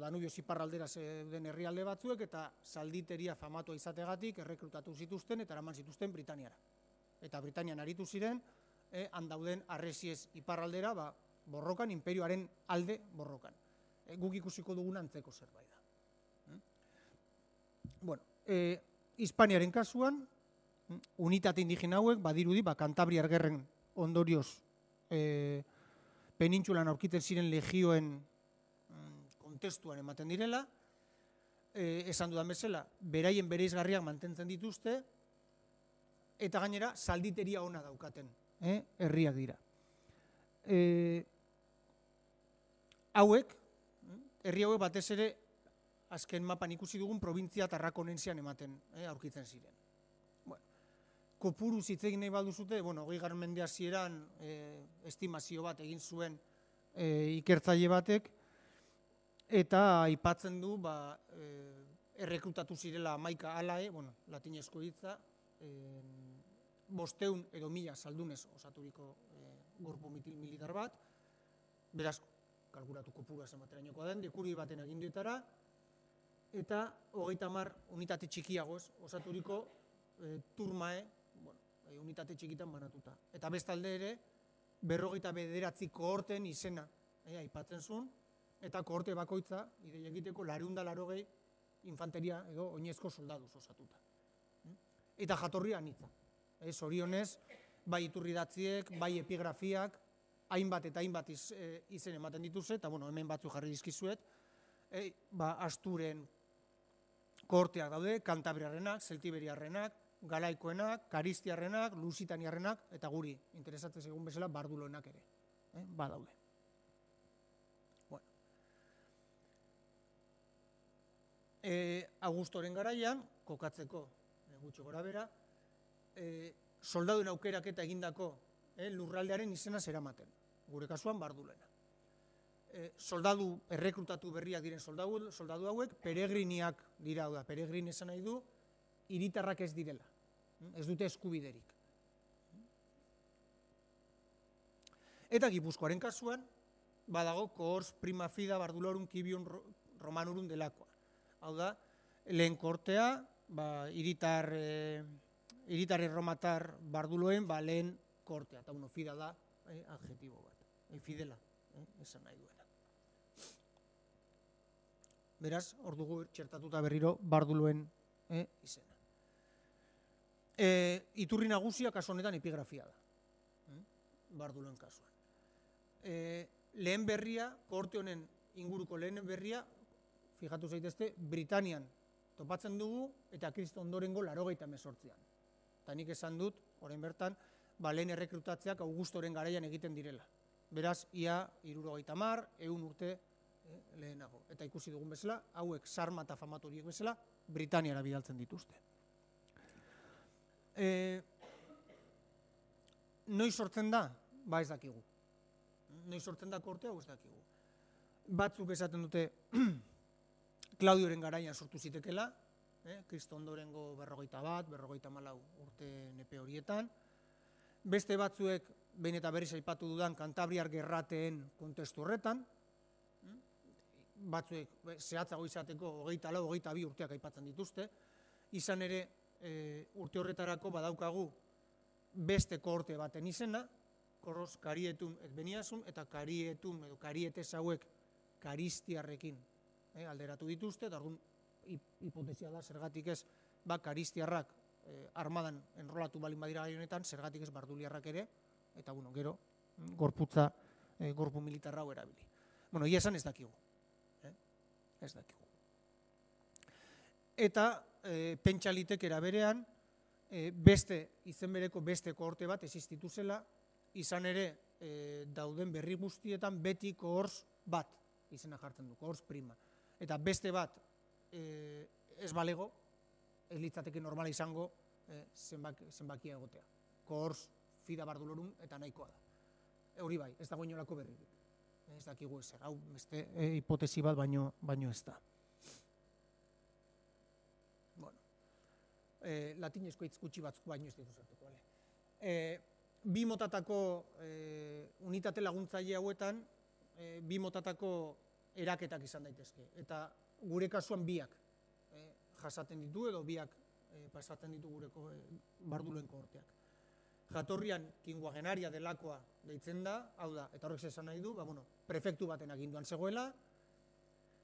Danubio iparraldera zeuden herrialde batzuek, eta zalditeria famatua izategatik errekrutatu zituzten eta eraman zituzten Britaniara. Eta Britanian aritu ziren, handauden Arresiez iparraldera, borrokan, imperioaren alde borrokan. Guk ikusiko dugun antzeko zerbait da. Bueno, Hispaniaren kasuan, unitate indigena hauek, badirudi, Kantabriar gerren ondorioz penintsulan aurkitzen ziren legioen kontestuan ematen direla, esan dudan bezala, beraien bereizgarriak mantentzen dituzte, eta gainera, zalditeria ona daukaten, herriak dira. Herri hauek batez ere, azken mapan ikusi dugun provintzia Tarrakonensian ematen, aurkitzen ziren. Kopuru zitzegin nahi baduzute, 20. mende hasieran estimazio bat egin zuen ikertzaile batek, eta aipatzen du errekrutatu zirela 11 alae, latinezko hitza, 500 edo 1000 zaldunez osaturiko gorpu militar bat, beraz, kalkulatu kopurua zenbaterainokoa den, dekuri baten aginduetara, eta 30 unitate txikiagoz osaturiko turmae, unitate txikitan banatuta. Eta bestalde ere, 59 kohorten izena aipatzen zuen, eta kohorte bakoitza, ideia egiteko 280 infanteria edo oinezko soldaduz osatuta. Eta jatorria anitza. Zorionez, bai iturridatziek, bai epigrafiak, hainbat eta hainbat izen ematen dituzte, eta hemen batzu jarri dizkizuet, Asturen kohorteak daude, Kantabriarrenak, Zeltiberiarrenak, Galaikoenak, Karistiarrenak, Lusitaniarrenak, eta guri, interesatzen segun bezala, Barduloenak ere. Badaude. Augustoren garaian, kokatzeko gutxi gora bera, soldaduen aukerak eta egindako lurraldearen izena zeramaten. Gure kasuan, Bardulena. Soldadu errekrutatu berriak diren soldadu hauek, peregriniak dira, peregrin esan nahi du, hiritarrak ez direla, ez dute eskubiderik. Eta Gipuzkoaren kasuan, badago cohors prima fida Bardulorum civium Romanurum delakoa. Hau da, lehen kortea, hiritar erromatar Barduloen, lehen kortea, eta fida da adjetibo bat, fidela, esan nahi duena. Beraz, hor dugu txertatuta berriro Barduloen izena. Iturri nagusia kasu honetan epigrafia da, Barduloen kasuan. Lehen berria, kohorte honen inguruko lehen berria, fijatu zaitezte, Britanian topatzen dugu eta Kristo ondorengo 88an. Eta nik esan dut, orain bertan, lehen errekrutatzeak Augustoren garaian egiten direla. Beraz, ia 70, 100 urte lehenago. Eta ikusi dugun bezala, hauek sarmata famatu horiek bezala, Britaniara bidaltzen dituzte. Noiz sortzen da? Ez dakigu. Noiz sortzen da kortea? Ez dakigu. Batzuk esaten dute Claudioren garaian sortu zitekela, Kristo ondorengo 41, 54 urte nepe horietan. Beste batzuek, behin eta berriz aipatu dudan, Kantabriar gerrateen kontestu horretan, batzuek zehatzago izateko 24-22 urteak aipatzen dituzte, izan ere urte horretarako badaukagu beste kohorte baten izena, Korroz Karietun Ekbeniasun eta Karietun edo Karietes hauek karistiarrekin alderatu dituzte, eta orduan hipotesia da zergatik ez karistiarrak armadan enrolatu balin badira gai honetan, zergatik ez barduliarrak ere, eta gero gorputza, gorpu militarra hau erabili. Ia esan ez dakigu. Ez dakigu. Eta pentsa liteke era berean, beste izen bereko beste kohorte bat existitu zela, izan ere dauden berri guztietan beti kohorz bat izena jartzen du, kohorz prima. Eta beste bat ez balego, ez litzateke normala izango zenbakia egotea. Kohorz fida bardulorum eta nahikoa da. Hori bai, ez dago inolako berririk. Ez dakigu ezer, hau beste hipotesi bat baino ez da. Latinezko hitz gutxi batzuk baino ez ditu sartuko. Bi motatako unitate laguntzaile hauetan, bi motatako eraketak izan daitezke. Eta gure kasuan biak jasaten ditu edo biak pasatzen ditu gureko barduloen kohorteak. Jatorrian kinguagenaria delakoa deitzen da, hau da, eta horrek esan nahi du, prefektu baten aginduan zegoela,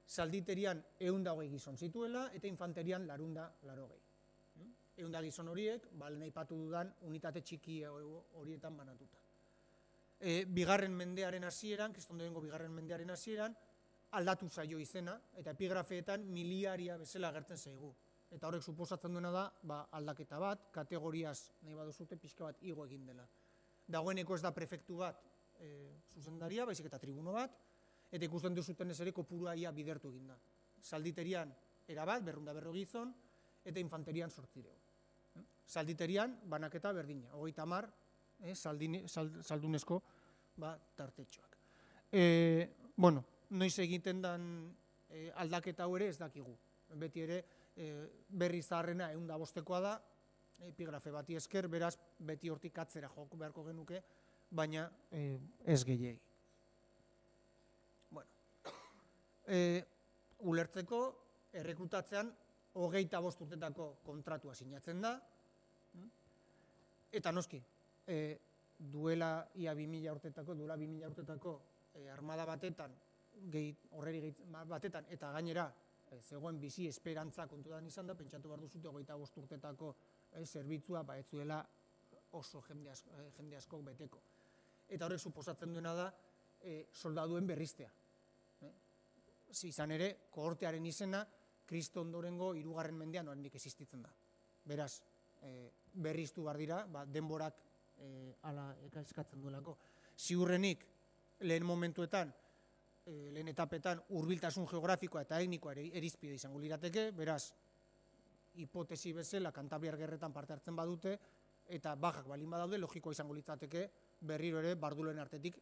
zalditerian 120 gizon zituela, eta infanterian 280. 100 gizon horiek, lehen aipatu dudan, unitate txiki horietan banatuta. Bigarren mendearen hasieran, kristondoengo bigarren mendearen hasieran, aldatu zaio izena, eta epigrafeetan miliaria bezala agertzen zaigu. Eta horrek suposatzen duena da, aldaketa bat, kategoriaz nahi baduzute pixka bat igo egin dela. Dagoeneko ez da prefektu bat zuzendaria, baizik eta tribuno bat, eta ikusten duzuten ez ere kopurua ia bidertu egin da. Zalditerian erabat, 240 gizon, eta infanterian 800. Zalditerian banaketa berdina, 30 zaldunezko tartetxoak. Noiz egiten den aldaketa hau ere ez dakigu. Beti ere berri zaharrena 105koa da, epigrafe bati esker, beraz beti hortik atzera joko beharko genuke, baina ez gehiegi. Ulertzeko, errekrutatzean 25 urtetako kontratua sinatzen da, eta noski, duela 2000 urtetako armada batetan, horreri batetan, eta gainera, zegoen bizi esperantza kontudan izan da, pentsatu behar duzute 25 urtetako zerbitzua ez zuela oso jende askok beteko. Eta horrek suposatzen duena da soldaduen berriztea. Izan ere, kohortearen izena, Kristo ondorengo 3. mendean oraindik existitzen da. Beraz, berriztu behar dira, denborak hala eskatzen duelako. Ziurrenik, lehen momentuetan, lehen etapetan hurbiltasun geografikoa eta etnikoa erizpide izango lirateke, beraz, hipotesi bezala Kantabriar gerretan parte hartzen badute, eta bajak balin badaude, logikoa izango litzateke berriro ere barduloen artetik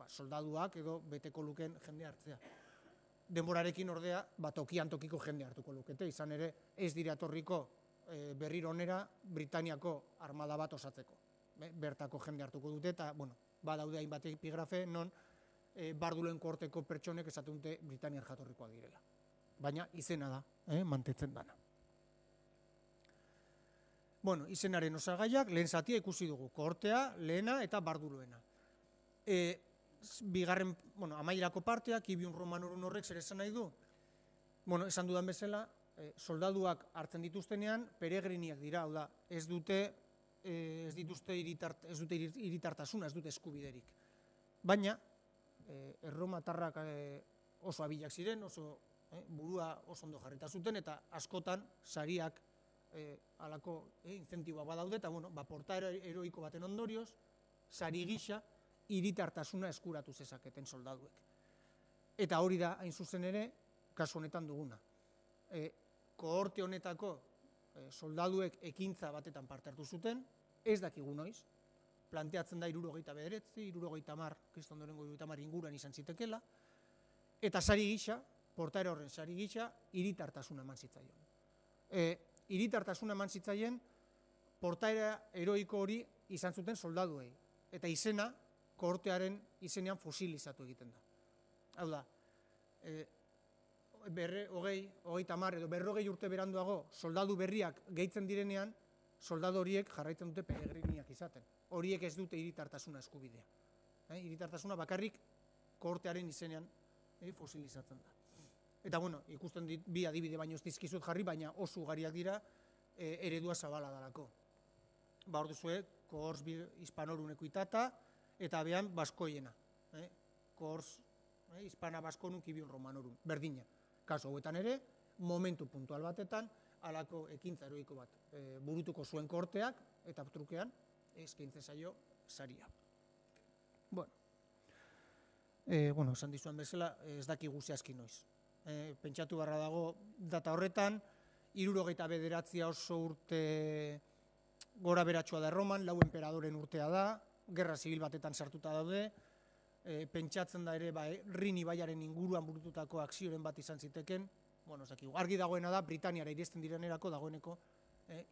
soldaduak edo beteko luken jende hartzea. Denborarekin ordea, tokian tokiko jende hartuko lukete, izan ere ez dira etorriko berriro onera Britaniako armada bat osatzeko. Bertako jende hartuko dute, eta badaude hainbat epigrafe non barduloen kohorteko pertsonek esaten dute Britaniar jatorrikoa direla. Baina izena da, mantentzen dana. Izenaren osagaiak, lehen zatia ikusi dugu, kohortea, lehena eta barduloena. Bigarren, amaierako parteak, Ibiun Romanorun horrek zer esan nahi du? Esan dudan bezala, soldaduak hartzen dituztenean, peregriniak dira, hau da, ez dute hiritartasuna, ez dute eskubiderik. Baina, erromatarrak oso abilak ziren, burua oso ondo jarrita zuten, eta askotan sariak halako incentiboa badaude, eta portaera heroiko baten ondorioz, sari gisa, hiritartasuna eskuratu zezaketen soldaduek. Eta hori da, hain zuzen ere, kasu honetan duguna. Kohorte honetako soldaduek ekintza batetan parte hartu zuten, ez dakigu noiz, planteatzen da 69, 70, kristondorengo 70 inguruan izan zitekela, eta sari gisa, portaera horren sari gisa, hiritartasuna eman zitzaion. Hiritartasuna eman zitzaien, portaera heroiko hori izan zuten soldaduei. Eta izena, kohortearen izenean fosilizatu egiten da. Hau da, hogeita hamar edo 40 urte beranduago soldadu berriak gehitzen direnean, soldadu horiek jarraitzen dute peregriniak izaten. Horiek ez dute hiritartasuna eskubidea. Hiritartasuna bakarrik kohortearen izenean fosilizatzen da. Eta bueno, ikusten bi adibide baino ez dizkizut jarri, baina oso ugariak dira eredua zabala dalako. Ba hor duzue, kohors hispanorun ekuitata, eta behan baskoiena. Kohors hispana baskonun kibion romanorun, berdina. Kaso hauetan ere, momentu puntual batetan, halako ekintza heroiko bat burutuko zuen kohorteak, eta trukean, eskaintzen zaio saria. Bueno, esan dizuan bezala, ez dakigu zehazki noiz. Pentsatu barra dago data horretan, 79 oso urte gora beratsua da Erroman, 4 enperadoren urtea da, gerra zibil batetan sartuta daude, pentsatzen da ere Rin ibaiaren inguruan burututako akzioren bat izan ziteken, bueno, ez dakigu. Argi dagoena da, Britaniara iristen direnerako dagoeneko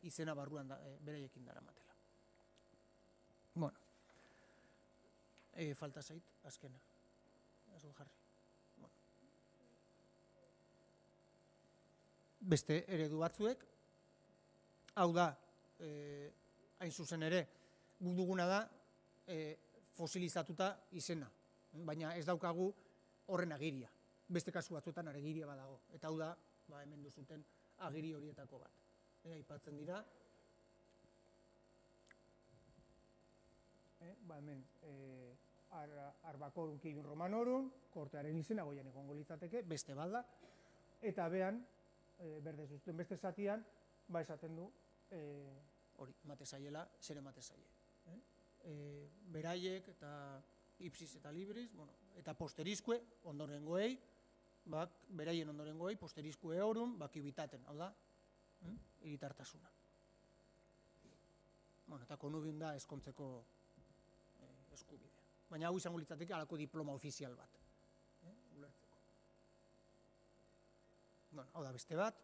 izena barruan beraiekin daramatela. Bueno, falta zait, azkena. Ez jarri. Beste eredu batzuek, hau da, hain zuzen ere, guk duguna da fosilizatuta izena, baina ez daukagu horren agiria. Beste kasu batzuetan agiria badago, eta hau da, hemen duzuten agiri horietako bat. Aipatzen dira, hemen, Arbakorun kibin romanorun, kohortearen izena goian egongo litzateke, beste balda, eta behan, berdez duzten beste zatian, esaten du, hori, emate zaiela, zer emate zaie. Beraiek eta ipsis eta libris, eta posterizkue, ondorengoei, beraien ondorengoei, posterizkue horun, kibitaten, hau da, hiritartasuna. Eta konubion da eskontzeko eskubidea. Baina hau izango litzateke halako diploma ofizial bat. Ulertzeko. Hau da beste bat.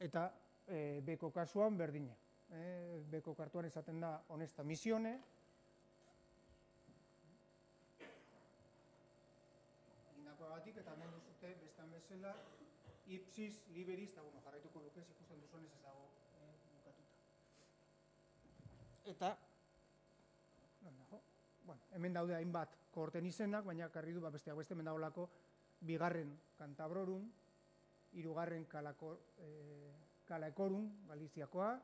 Eta beko kasuan berdina. Beko kartuan esaten da honesta misione. Indakoagatik eta hemen duzute bestan bezala ipsis, liberis, eta jarraituko lukez ikusten duzunez ez dago bukatuta. Eta, hemen daude hainbat kohorten izenak, baina karri du besteak beste hemen dagoelako 2. Kantabrorun, 3. Kalaekorun, Galiziakoa,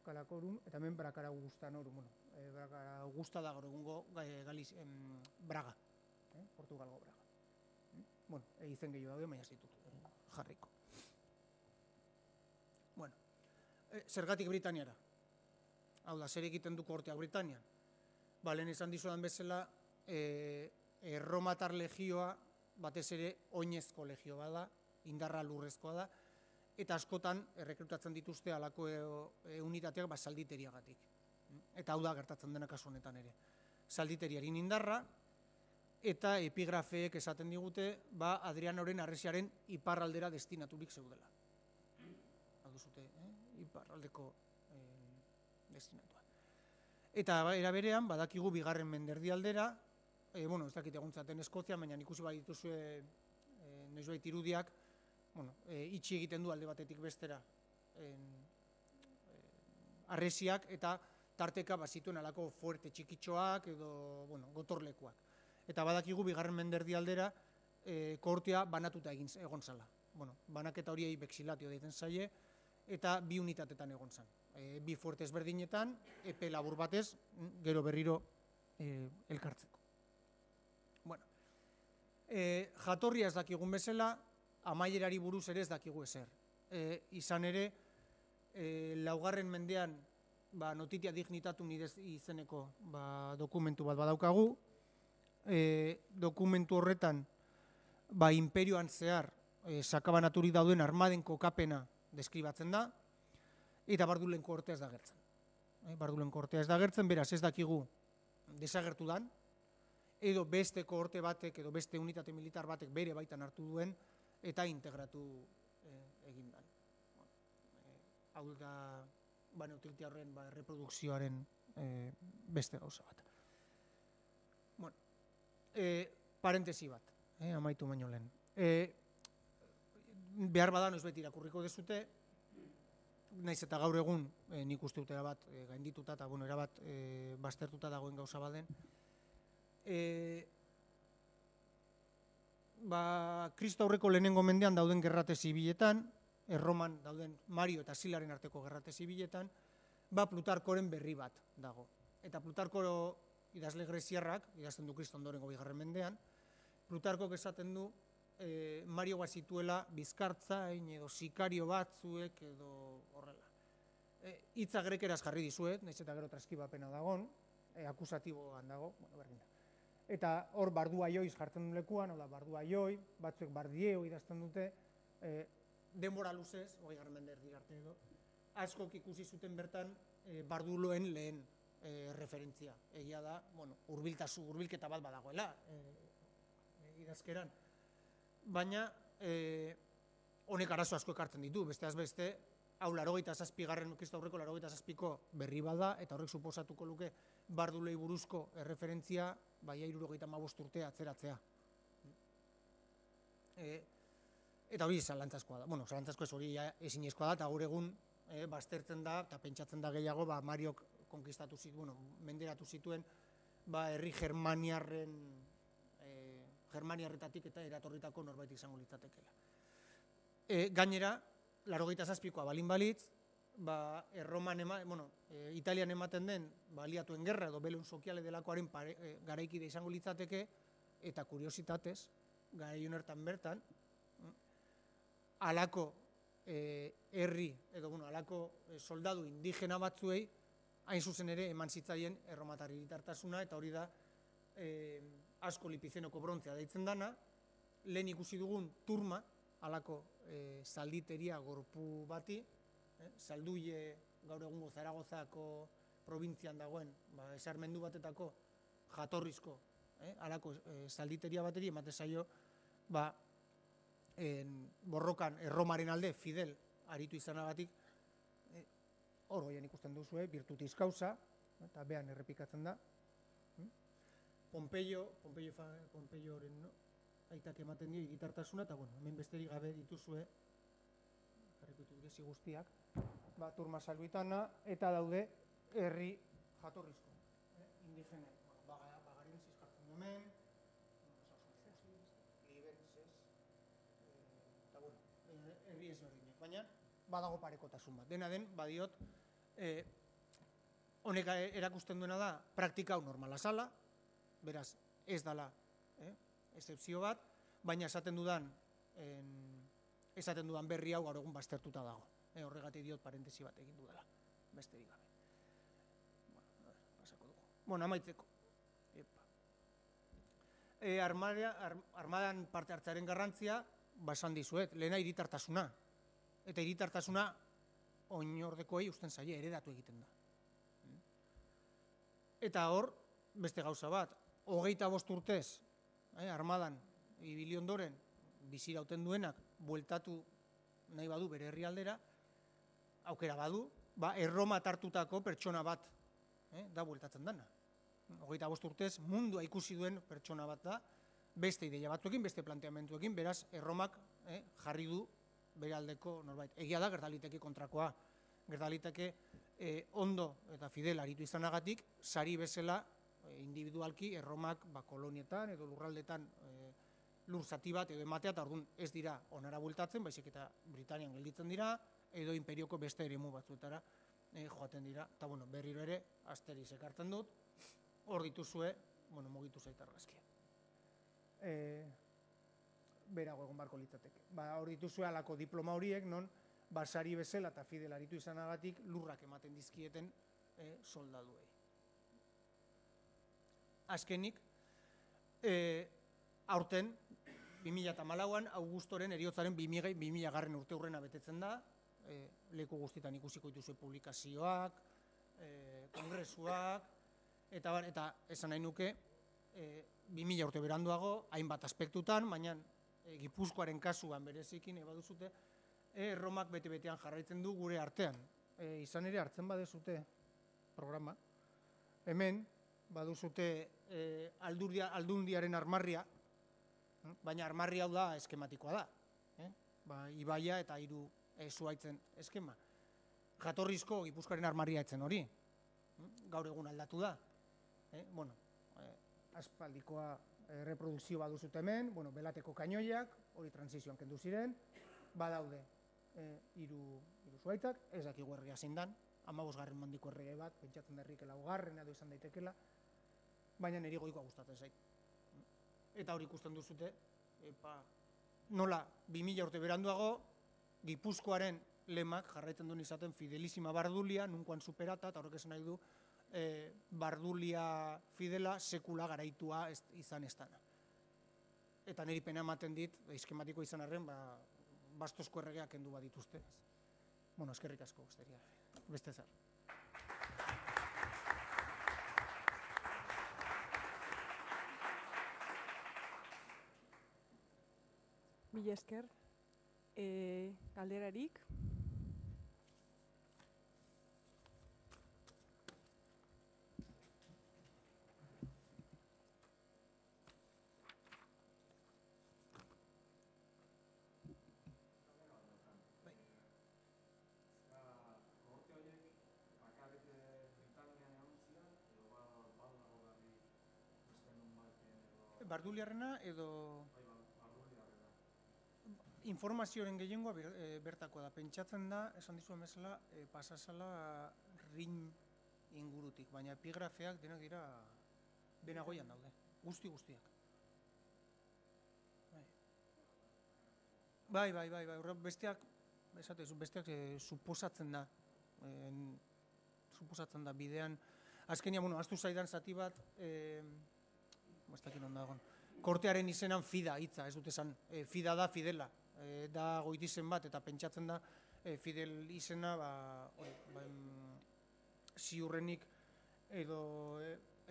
Kalakorun, eta hemen Brakara Augustanorun. Brakara Augusta da gaur egungo Braga, Portugalgo Braga. Izen gehiago daude, baina ez ditut jarriko. Zergatik Britaniara? Hau da, zer egiten du kohorteak Britanian? Lehen esan dizudan bezala, Erromatar legioa batez ere oinezko legio bada, indarra lurrezkoa da, eta askotan errekrutatzen dituzte halako unitateak salditeriagatik. Eta hau da gertatzen dena kasu honetan ere. Salditeriarin indarra, eta epigrafeek esaten digute, Adrianoren harresiaren iparraldera destinaturik zeudela. Hau duzute, iparraldeko destinatua. Eta era berean, badakigu 2. Menderdialdera, ez dakit eguntzaten Eskozia, baina ikusi bai dituzue noizbait irudiak, itxi egiten du alde batetik bestera harresiak, eta tarteka bazituen alako fuerte txikitxoak edo gotorlekuak. Eta badakigu 2. Menderdialdera kohortea banatuta egon zala. Banaketa horiei bexilatio deitzen zaie, eta 2 unitatetan egon zan. 2 fuerte ezberdinetan, epe labur batez, gero berriro elkartzeko. Jatorria ez dakigun bezala, amaierari buruz ere ez dakigu ezer. Izan ere, 4. mendean notitia dignitatum izeneko dokumentu bat badaukagu. Dokumentu horretan, imperioan zehar sakabanaturik dauden armaden kokapena deskribatzen da, eta Bardulen kohortea ez da gertzen. Bardulen kohortea ez da gertzen, beraz ez dakigu desagertu dan, edo beste kohorte batek edo beste unitate militar batek bere baitan hartu duen eta integratu egin dan. hau da neutralite horren reprodukzioaren beste gauza bat. Bueno, parentesi bat, amaitu baino lehen. Behar bada noiz beti irakurriko dezute, naiz eta gaur egun nik uste dut erabat gaindituta eta erabat baztertuta dagoen gauza baden. Kristo aurreko lehenengo mendean dauden gerrate zibiletan, Erroman dauden Mario eta Silaren arteko gerrate zibiletan, Plutarkoren berri bat dago. Eta Plutarko idazle greziarrak, idazten du Kristo ondorengo 2. mendean, Plutarkok esaten du Mario bat zituela bizkartzain edo sikario batzuek edo horrela. Hitza grekeraz jarri dizuet, nahiz eta gero transkibapena dagon, akusatiboan dago, berdin da. Eta hor barduaioiz jartzen du lekuan, barduaioi, batzuek bardieo idazten dute, denbora luzez, 20. mende erdi arte edo, askok ikusi zuten bertan barduloen lehen referentzia. Egia da, hurbilketa bat badagoela idazkeran. Baina honek arazo asko ekartzen ditu, besteaz beste, hau 87. Kristo aurreko 87ko berri bada, eta horrek suposatuko luke bardulei buruzko erreferentzia 75 urte atzeratzea. Eta hori zalantzazkoa da. Zalantzazko ez hori ezinezkoa da, eta gaur egun baztertzen da, eta pentsatzen da gehiago, Mariok konkistatu zituen, menderatu zituen, herri Germaniarretatik eta eratorritako norbait izango litzatekeela. Gainera, 87koa balin balitz, Italian ematen den aliatuen gerra edo belun sokiale delakoaren garaikide izango litzateke, eta kuriositatez, garai honetan bertan, alako herri edo alako soldadu indigena batzuei hain zuzen ere eman zitzaien erromatar hiritartasuna, eta hori da asko lipizenoko brontzea deitzen dana, lehen ikusi dugun turma, alako zalditeria gorpu bati, Zalduie gaur egungo Zaragozako probintzian dagoen esarmendu batetako jatorrizko alako zalditeria bateri emate zaio borrokan Erromaren alde Fidel aritu izanagatik hor goian ikusten duzu, virtutis causa, eta behan errepikatzen da. Pompeioren aitak ematen dio hiritartasuna, eta hemen besterik gabe dituzue guztiak, turma salbuitana, eta daude herri jatorrizko, indigene, Bagarin zizkartzen hemen, Libertzez, eta herri ezberdinak, baina badago parekotasun bat. Dena den, badiot, honek erakusten duena da, praktika hau normala zala, beraz, ez dala excepzio bat, baina esaten dudan berri hau gaur egun baztertuta dago. Horregatik diot parentesi bat egin dudala, besterik gabe. Pasako dugu. Amaitzeko. Armadan parte hartzearen garrantzia, esan dizuet, lehena hiritartasuna. Eta hiritartasuna oinordekoei usten zaie, heredatu egiten da. Eta hor, beste gauza bat, 25 urtez, armadan ibili ondoren, bizirauten duenak, bueltatu nahi badu bere herrialdera, aukera badu, Erroma hartutako pertsona bat da bueltatzen dana. 25 urtez mundua ikusi duen pertsona bat da, beste ideia batzuekin, beste planteamentuekin, beraz Erromak jarri du bere aldeko norbait. Egia da, gertaliteke kontrakoa, gertaliteke ondo eta Fidel aritu izanagatik, sari bezala individualki Erromak kolonietan edo lurraldetan lur zati bat edo ematea, eta orduan ez dira onara bueltatzen, baizik eta Britanian gelditzen dira, edo imperioko beste eremu batzuetara joaten dira. Eta berriro ere, Asteriz ekartzen dut, hor dituzue, mugitu zait argazkia. Berago egon barko litzateke. Hor dituzue alako diploma horiek, non Basari bezala eta Fidel aritu izanagatik lurrak ematen dizkieten soldaduei. Azkenik, aurten, 2014an, Augustoren eriotzaren 2000 urte hurrena betetzen da, leku guztietan ikusiko dituzue publikazioak, kongresuak, eta esan nahi nuke, 2000 urte beranduago, hainbat aspektutan, baina Gipuzkoaren kasuan berezikin, baduzute, Romak bete-betean jarraitzen du gure artean. Izan ere hartzen badezute programa. Hemen, baduzute aldundiaren armarria, baina armarria hau da eskematikoa da. Ibaia eta 3 zuhaitzen eskema. Jatorrizko Gipuzkoaren armarria etzen hori. Gaur egun aldatu da. Aspaldikoa reprodukzio baduzute hemen, belateko kainoiak, hori transizioan kendu ziren, badaude 3 zuhaitzak, ez dakigu herria zein dan, 15. mandiko errege bat, pentsatzen derrik 4. edo izan daitekela, baina niri goikoa gustatzen zait. Eta hori ikusten duzute, nola 2000 urte beranduago, Gipuzkoaren lemak jarraitzen duen izaten fidelísima Bardulia, nunkoan superata, eta horrek esan nahi du, Bardulia fidela sekula garaitua izan ez dana. Eta niri pena ematen dit, eskematiko izan arren, bastozko erregeak kendu bat dituzte. Eskerrik asko, beste zer. Mila esker. Galderarik? Barduliarrena edo... Informazioaren gehiengoa bertakoa da. Pentsatzen da, esan dizuen bezala, pasazala rin ingurutik, baina epigrafeak denak dira benagoian daude, guztiak. Bai, besteak suposatzen da bidean, azkenia, astu zaidan zati bat, ez dakit non dagoen, kortearen izenan fida hitza, ez dut esan, fida da fidela, da goitizen bat, eta pentsatzen da fidel izena ziurrenik edo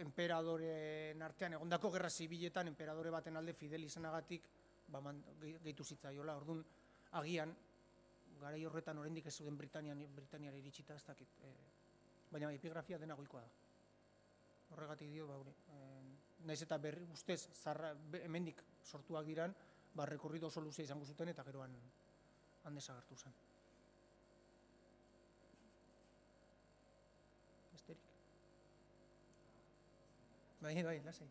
enperadoren artean, egondako gerra zibiletan, enperadore baten alde fidel izenagatik gehitu zitzaiola. Orduan, agian, garai horretan oraindik ez zuden Britaniara iritsita, ez dakit. Baina epigrafia dena goikoa da. Horregatik dio, naiz eta ustez, hemendik sortuak diran, rekorrido oso luzea izango zuten eta geroan desagertu zen. Besterik. Bai, lasai.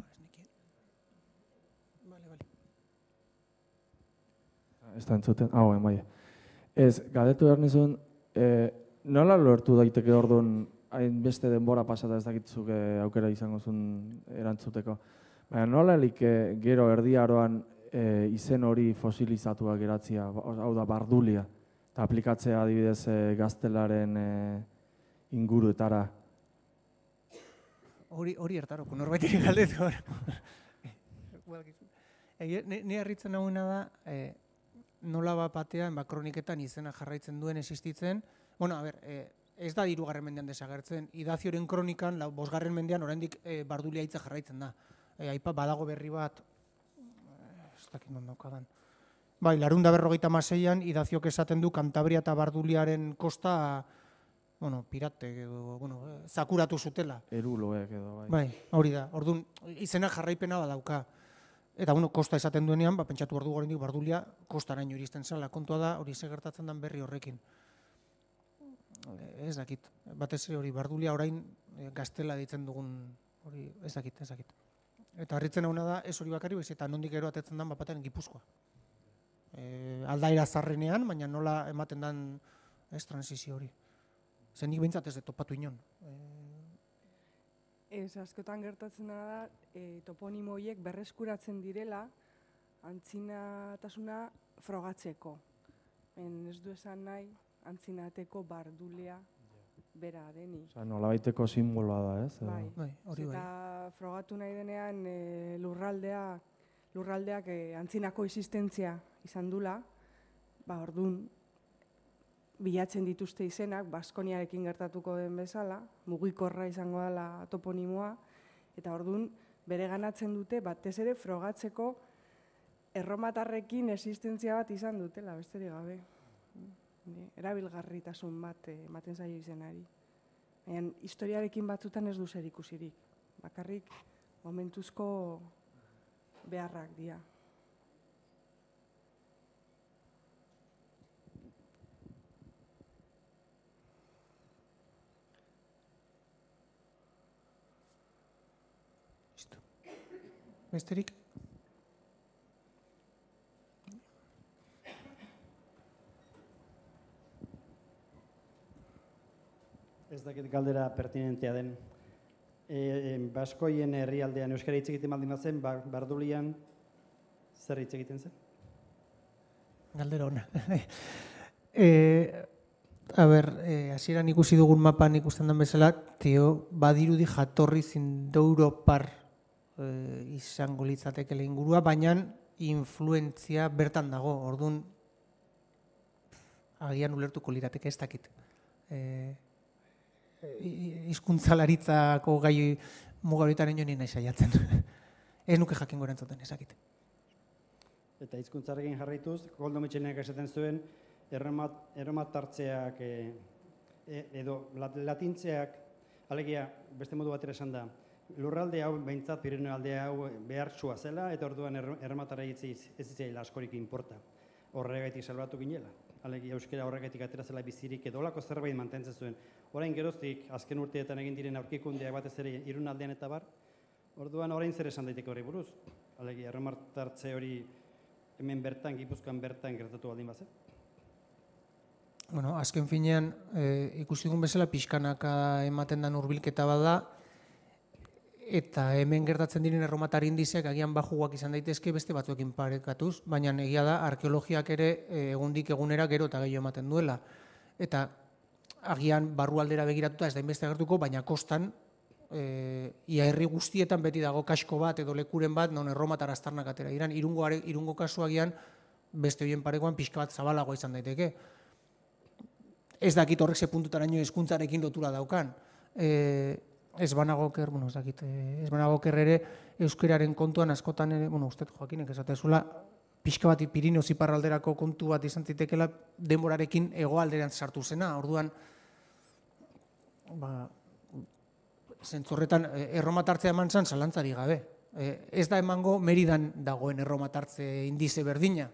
Ez nekien. Bale. Ez da entzuten, bai. Ez, galdetu behar nizun, nola lortu daiteke orduan hainbeste denbora pasata ez dakitzuk aukera izango zuen erantzuteko. Baina nola elik gero erdiaroan izen hori fosilizatuak geratzea, hau da Bardulia, eta aplikatzea adibidez gaztelaren inguruetara. Hori ertaroko, norbaitik galdetu hor. Ni harritzen nagoena da, nola bat batean, kroniketan izena jarraitzen duen existitzen. Ez da 3. mendean desagertzen. Idazioren kronikan, 5. mendean, oraindik Bardulia hitza jarraitzen da. Aipa badago berri bat, ez dakit non daukadan. Bai, 456an Idaziok esaten du Kantabria eta Barduliaren kosta, pirate edo, zakuratu zutela. Eruloek edo, bai. Bai, hori da. Orduan, izena jarraipena badauka. Eta kosta esaten duenean, pentsatu behar dugu oraindik Bardulia kostaraino iristen zela. Kontua da, hori ze gertatzen den berri horrekin. Ez dakit. Batez hori Bardulia orain gaztela ditzen dugun, hori ez dakit. Eta harritzen hauna da, ez hori bakari, eta nondik gero atetzen den bapatean Gipuzkoa. Aldaera zarrenean, baina nola ematen den transizio hori. Zen nik behintzat ez de topatu inon. Ez, askotan gertatzen da, toponimo horiek berreskuratzen direla antzinatasuna frogatzeko. Ez du esan nahi antzinateko Bardulia bera deni. Osa, nolabaiteko simboloa da, ez? Bai, hori bai. Eta frogatu nahi denean lurraldeak antzinako existentzia izan dula, orduan bilatzen dituzte izenak, Baskoniarekin gertatuko den bezala, mugikorra izango dela toponimoa, eta orduan bere ganatzen dute, batez ere frogatzeko erromatarrekin existentzia bat izan dutela, besterik gabe. Erabilgarritasun bat ematen zaio izenari. Baina historiarekin batzutan ez du zer ikusirik. Bakarrik momentuzko beharrak dira. Besterik? Ez dakit galdera pertinentea den. Baskoien herrialdean euskara hitz egiten baldin bazen, Bardulian zer hitz egiten zen? Galdera ona. Hasieran ikusi dugun mapan ikusten den bezala, badirudi jatorri zindoeuropar izango litzatekela ingurua, baina influentzia bertan dago, orduan agian ulertuko lirateke ez dakit. Hizkuntzalaritzako gai mugaritaren joan nahi saiatzen. Ez nuke jakingo erantzuten, ezakit. Eta hizkuntzarekin jarraituz, Koldo Mitxelenak esaten zuen, erromatartzeak edo latintzeak, alegia, beste modu batera esan da, lurralde hau behintzat Pirineo aldea hau behartsua zela, eta orduan erromatara ez zitzaila askorik inporta. Horregaitik salbatu ginela. Alegia euskera horregatik atera zela bizirik edo olako zerbait mantentzen zuen. Orain geroztik, azken urteetan egin diren aurkikundeak batez ere Irunaldean eta bar, orduan orain zer esan daiteke hori buruz. Alegia, erromatartze hori hemen bertan, Gipuzkoan bertan gertatu baldin bazen. Bueno, azken finean, ikusi dugun bezala pixkanaka ematen den hurbilketa bada, eta hemen gertatzen diren erromatar indizeak agian bajuak izan daitezke beste batzuekin parekatuz, baina egia da arkeologiak ere egundik egunera gero eta gehiago ematen duela. Eta agian barrualdera begiratuta ez da inbeste agertuko, baina kostan ia herri guztietan beti dago kasko bat edo lekuren bat non erromatar aztarnak atera diran. Irungo kasu agian beste horien parekoan pixka bat zabalagoa izan daiteke. Ez dakit horrek ze puntutaraino hizkuntzarekin lotura daukan. Ez banagoker ere euskeraren kontuan askotan ere, ustez Joakinek esatezula, pixka bat Pirineo iparralderako kontu bat izan zitekela denborarekin hegoalderan sartu zena. Orduan, zentzorretan erromatartzea eman zen zalantzari gabe. Ez da emango Meridan dagoen erromatartze indize berdina.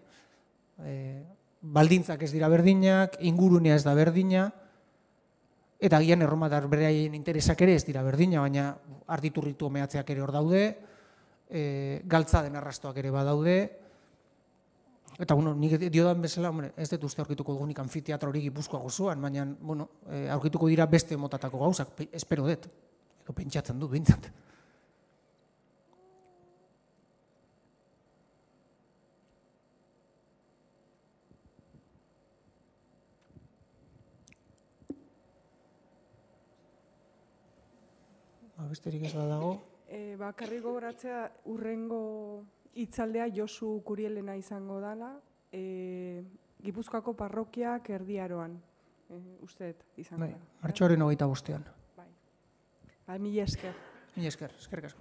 Baldintzak ez dira berdinak, ingurunea ez da berdina, eta agian erromatar beraien interesak ere ez dira berdina, baina arditurritu mehatzeak ere hor daude, galtza den arrastoak ere badaude, eta nik diodan bezala, ez dut uste aurkituko dugunik anfiteatro hori Gipuzkoa gozoan, baina aurkituko dira beste motatako gauzak, espero dut, edo pentsatzen dut bintzat. Besterik ez badago. Bakarrik gogoratzea urrengo hitzaldea Josu Kurielena izango dela, Gipuzkoako parrokiak Erdiaroan, usteet izango dela. Martxoaren 25. Mila esker. Mila esker, eskerrik asko.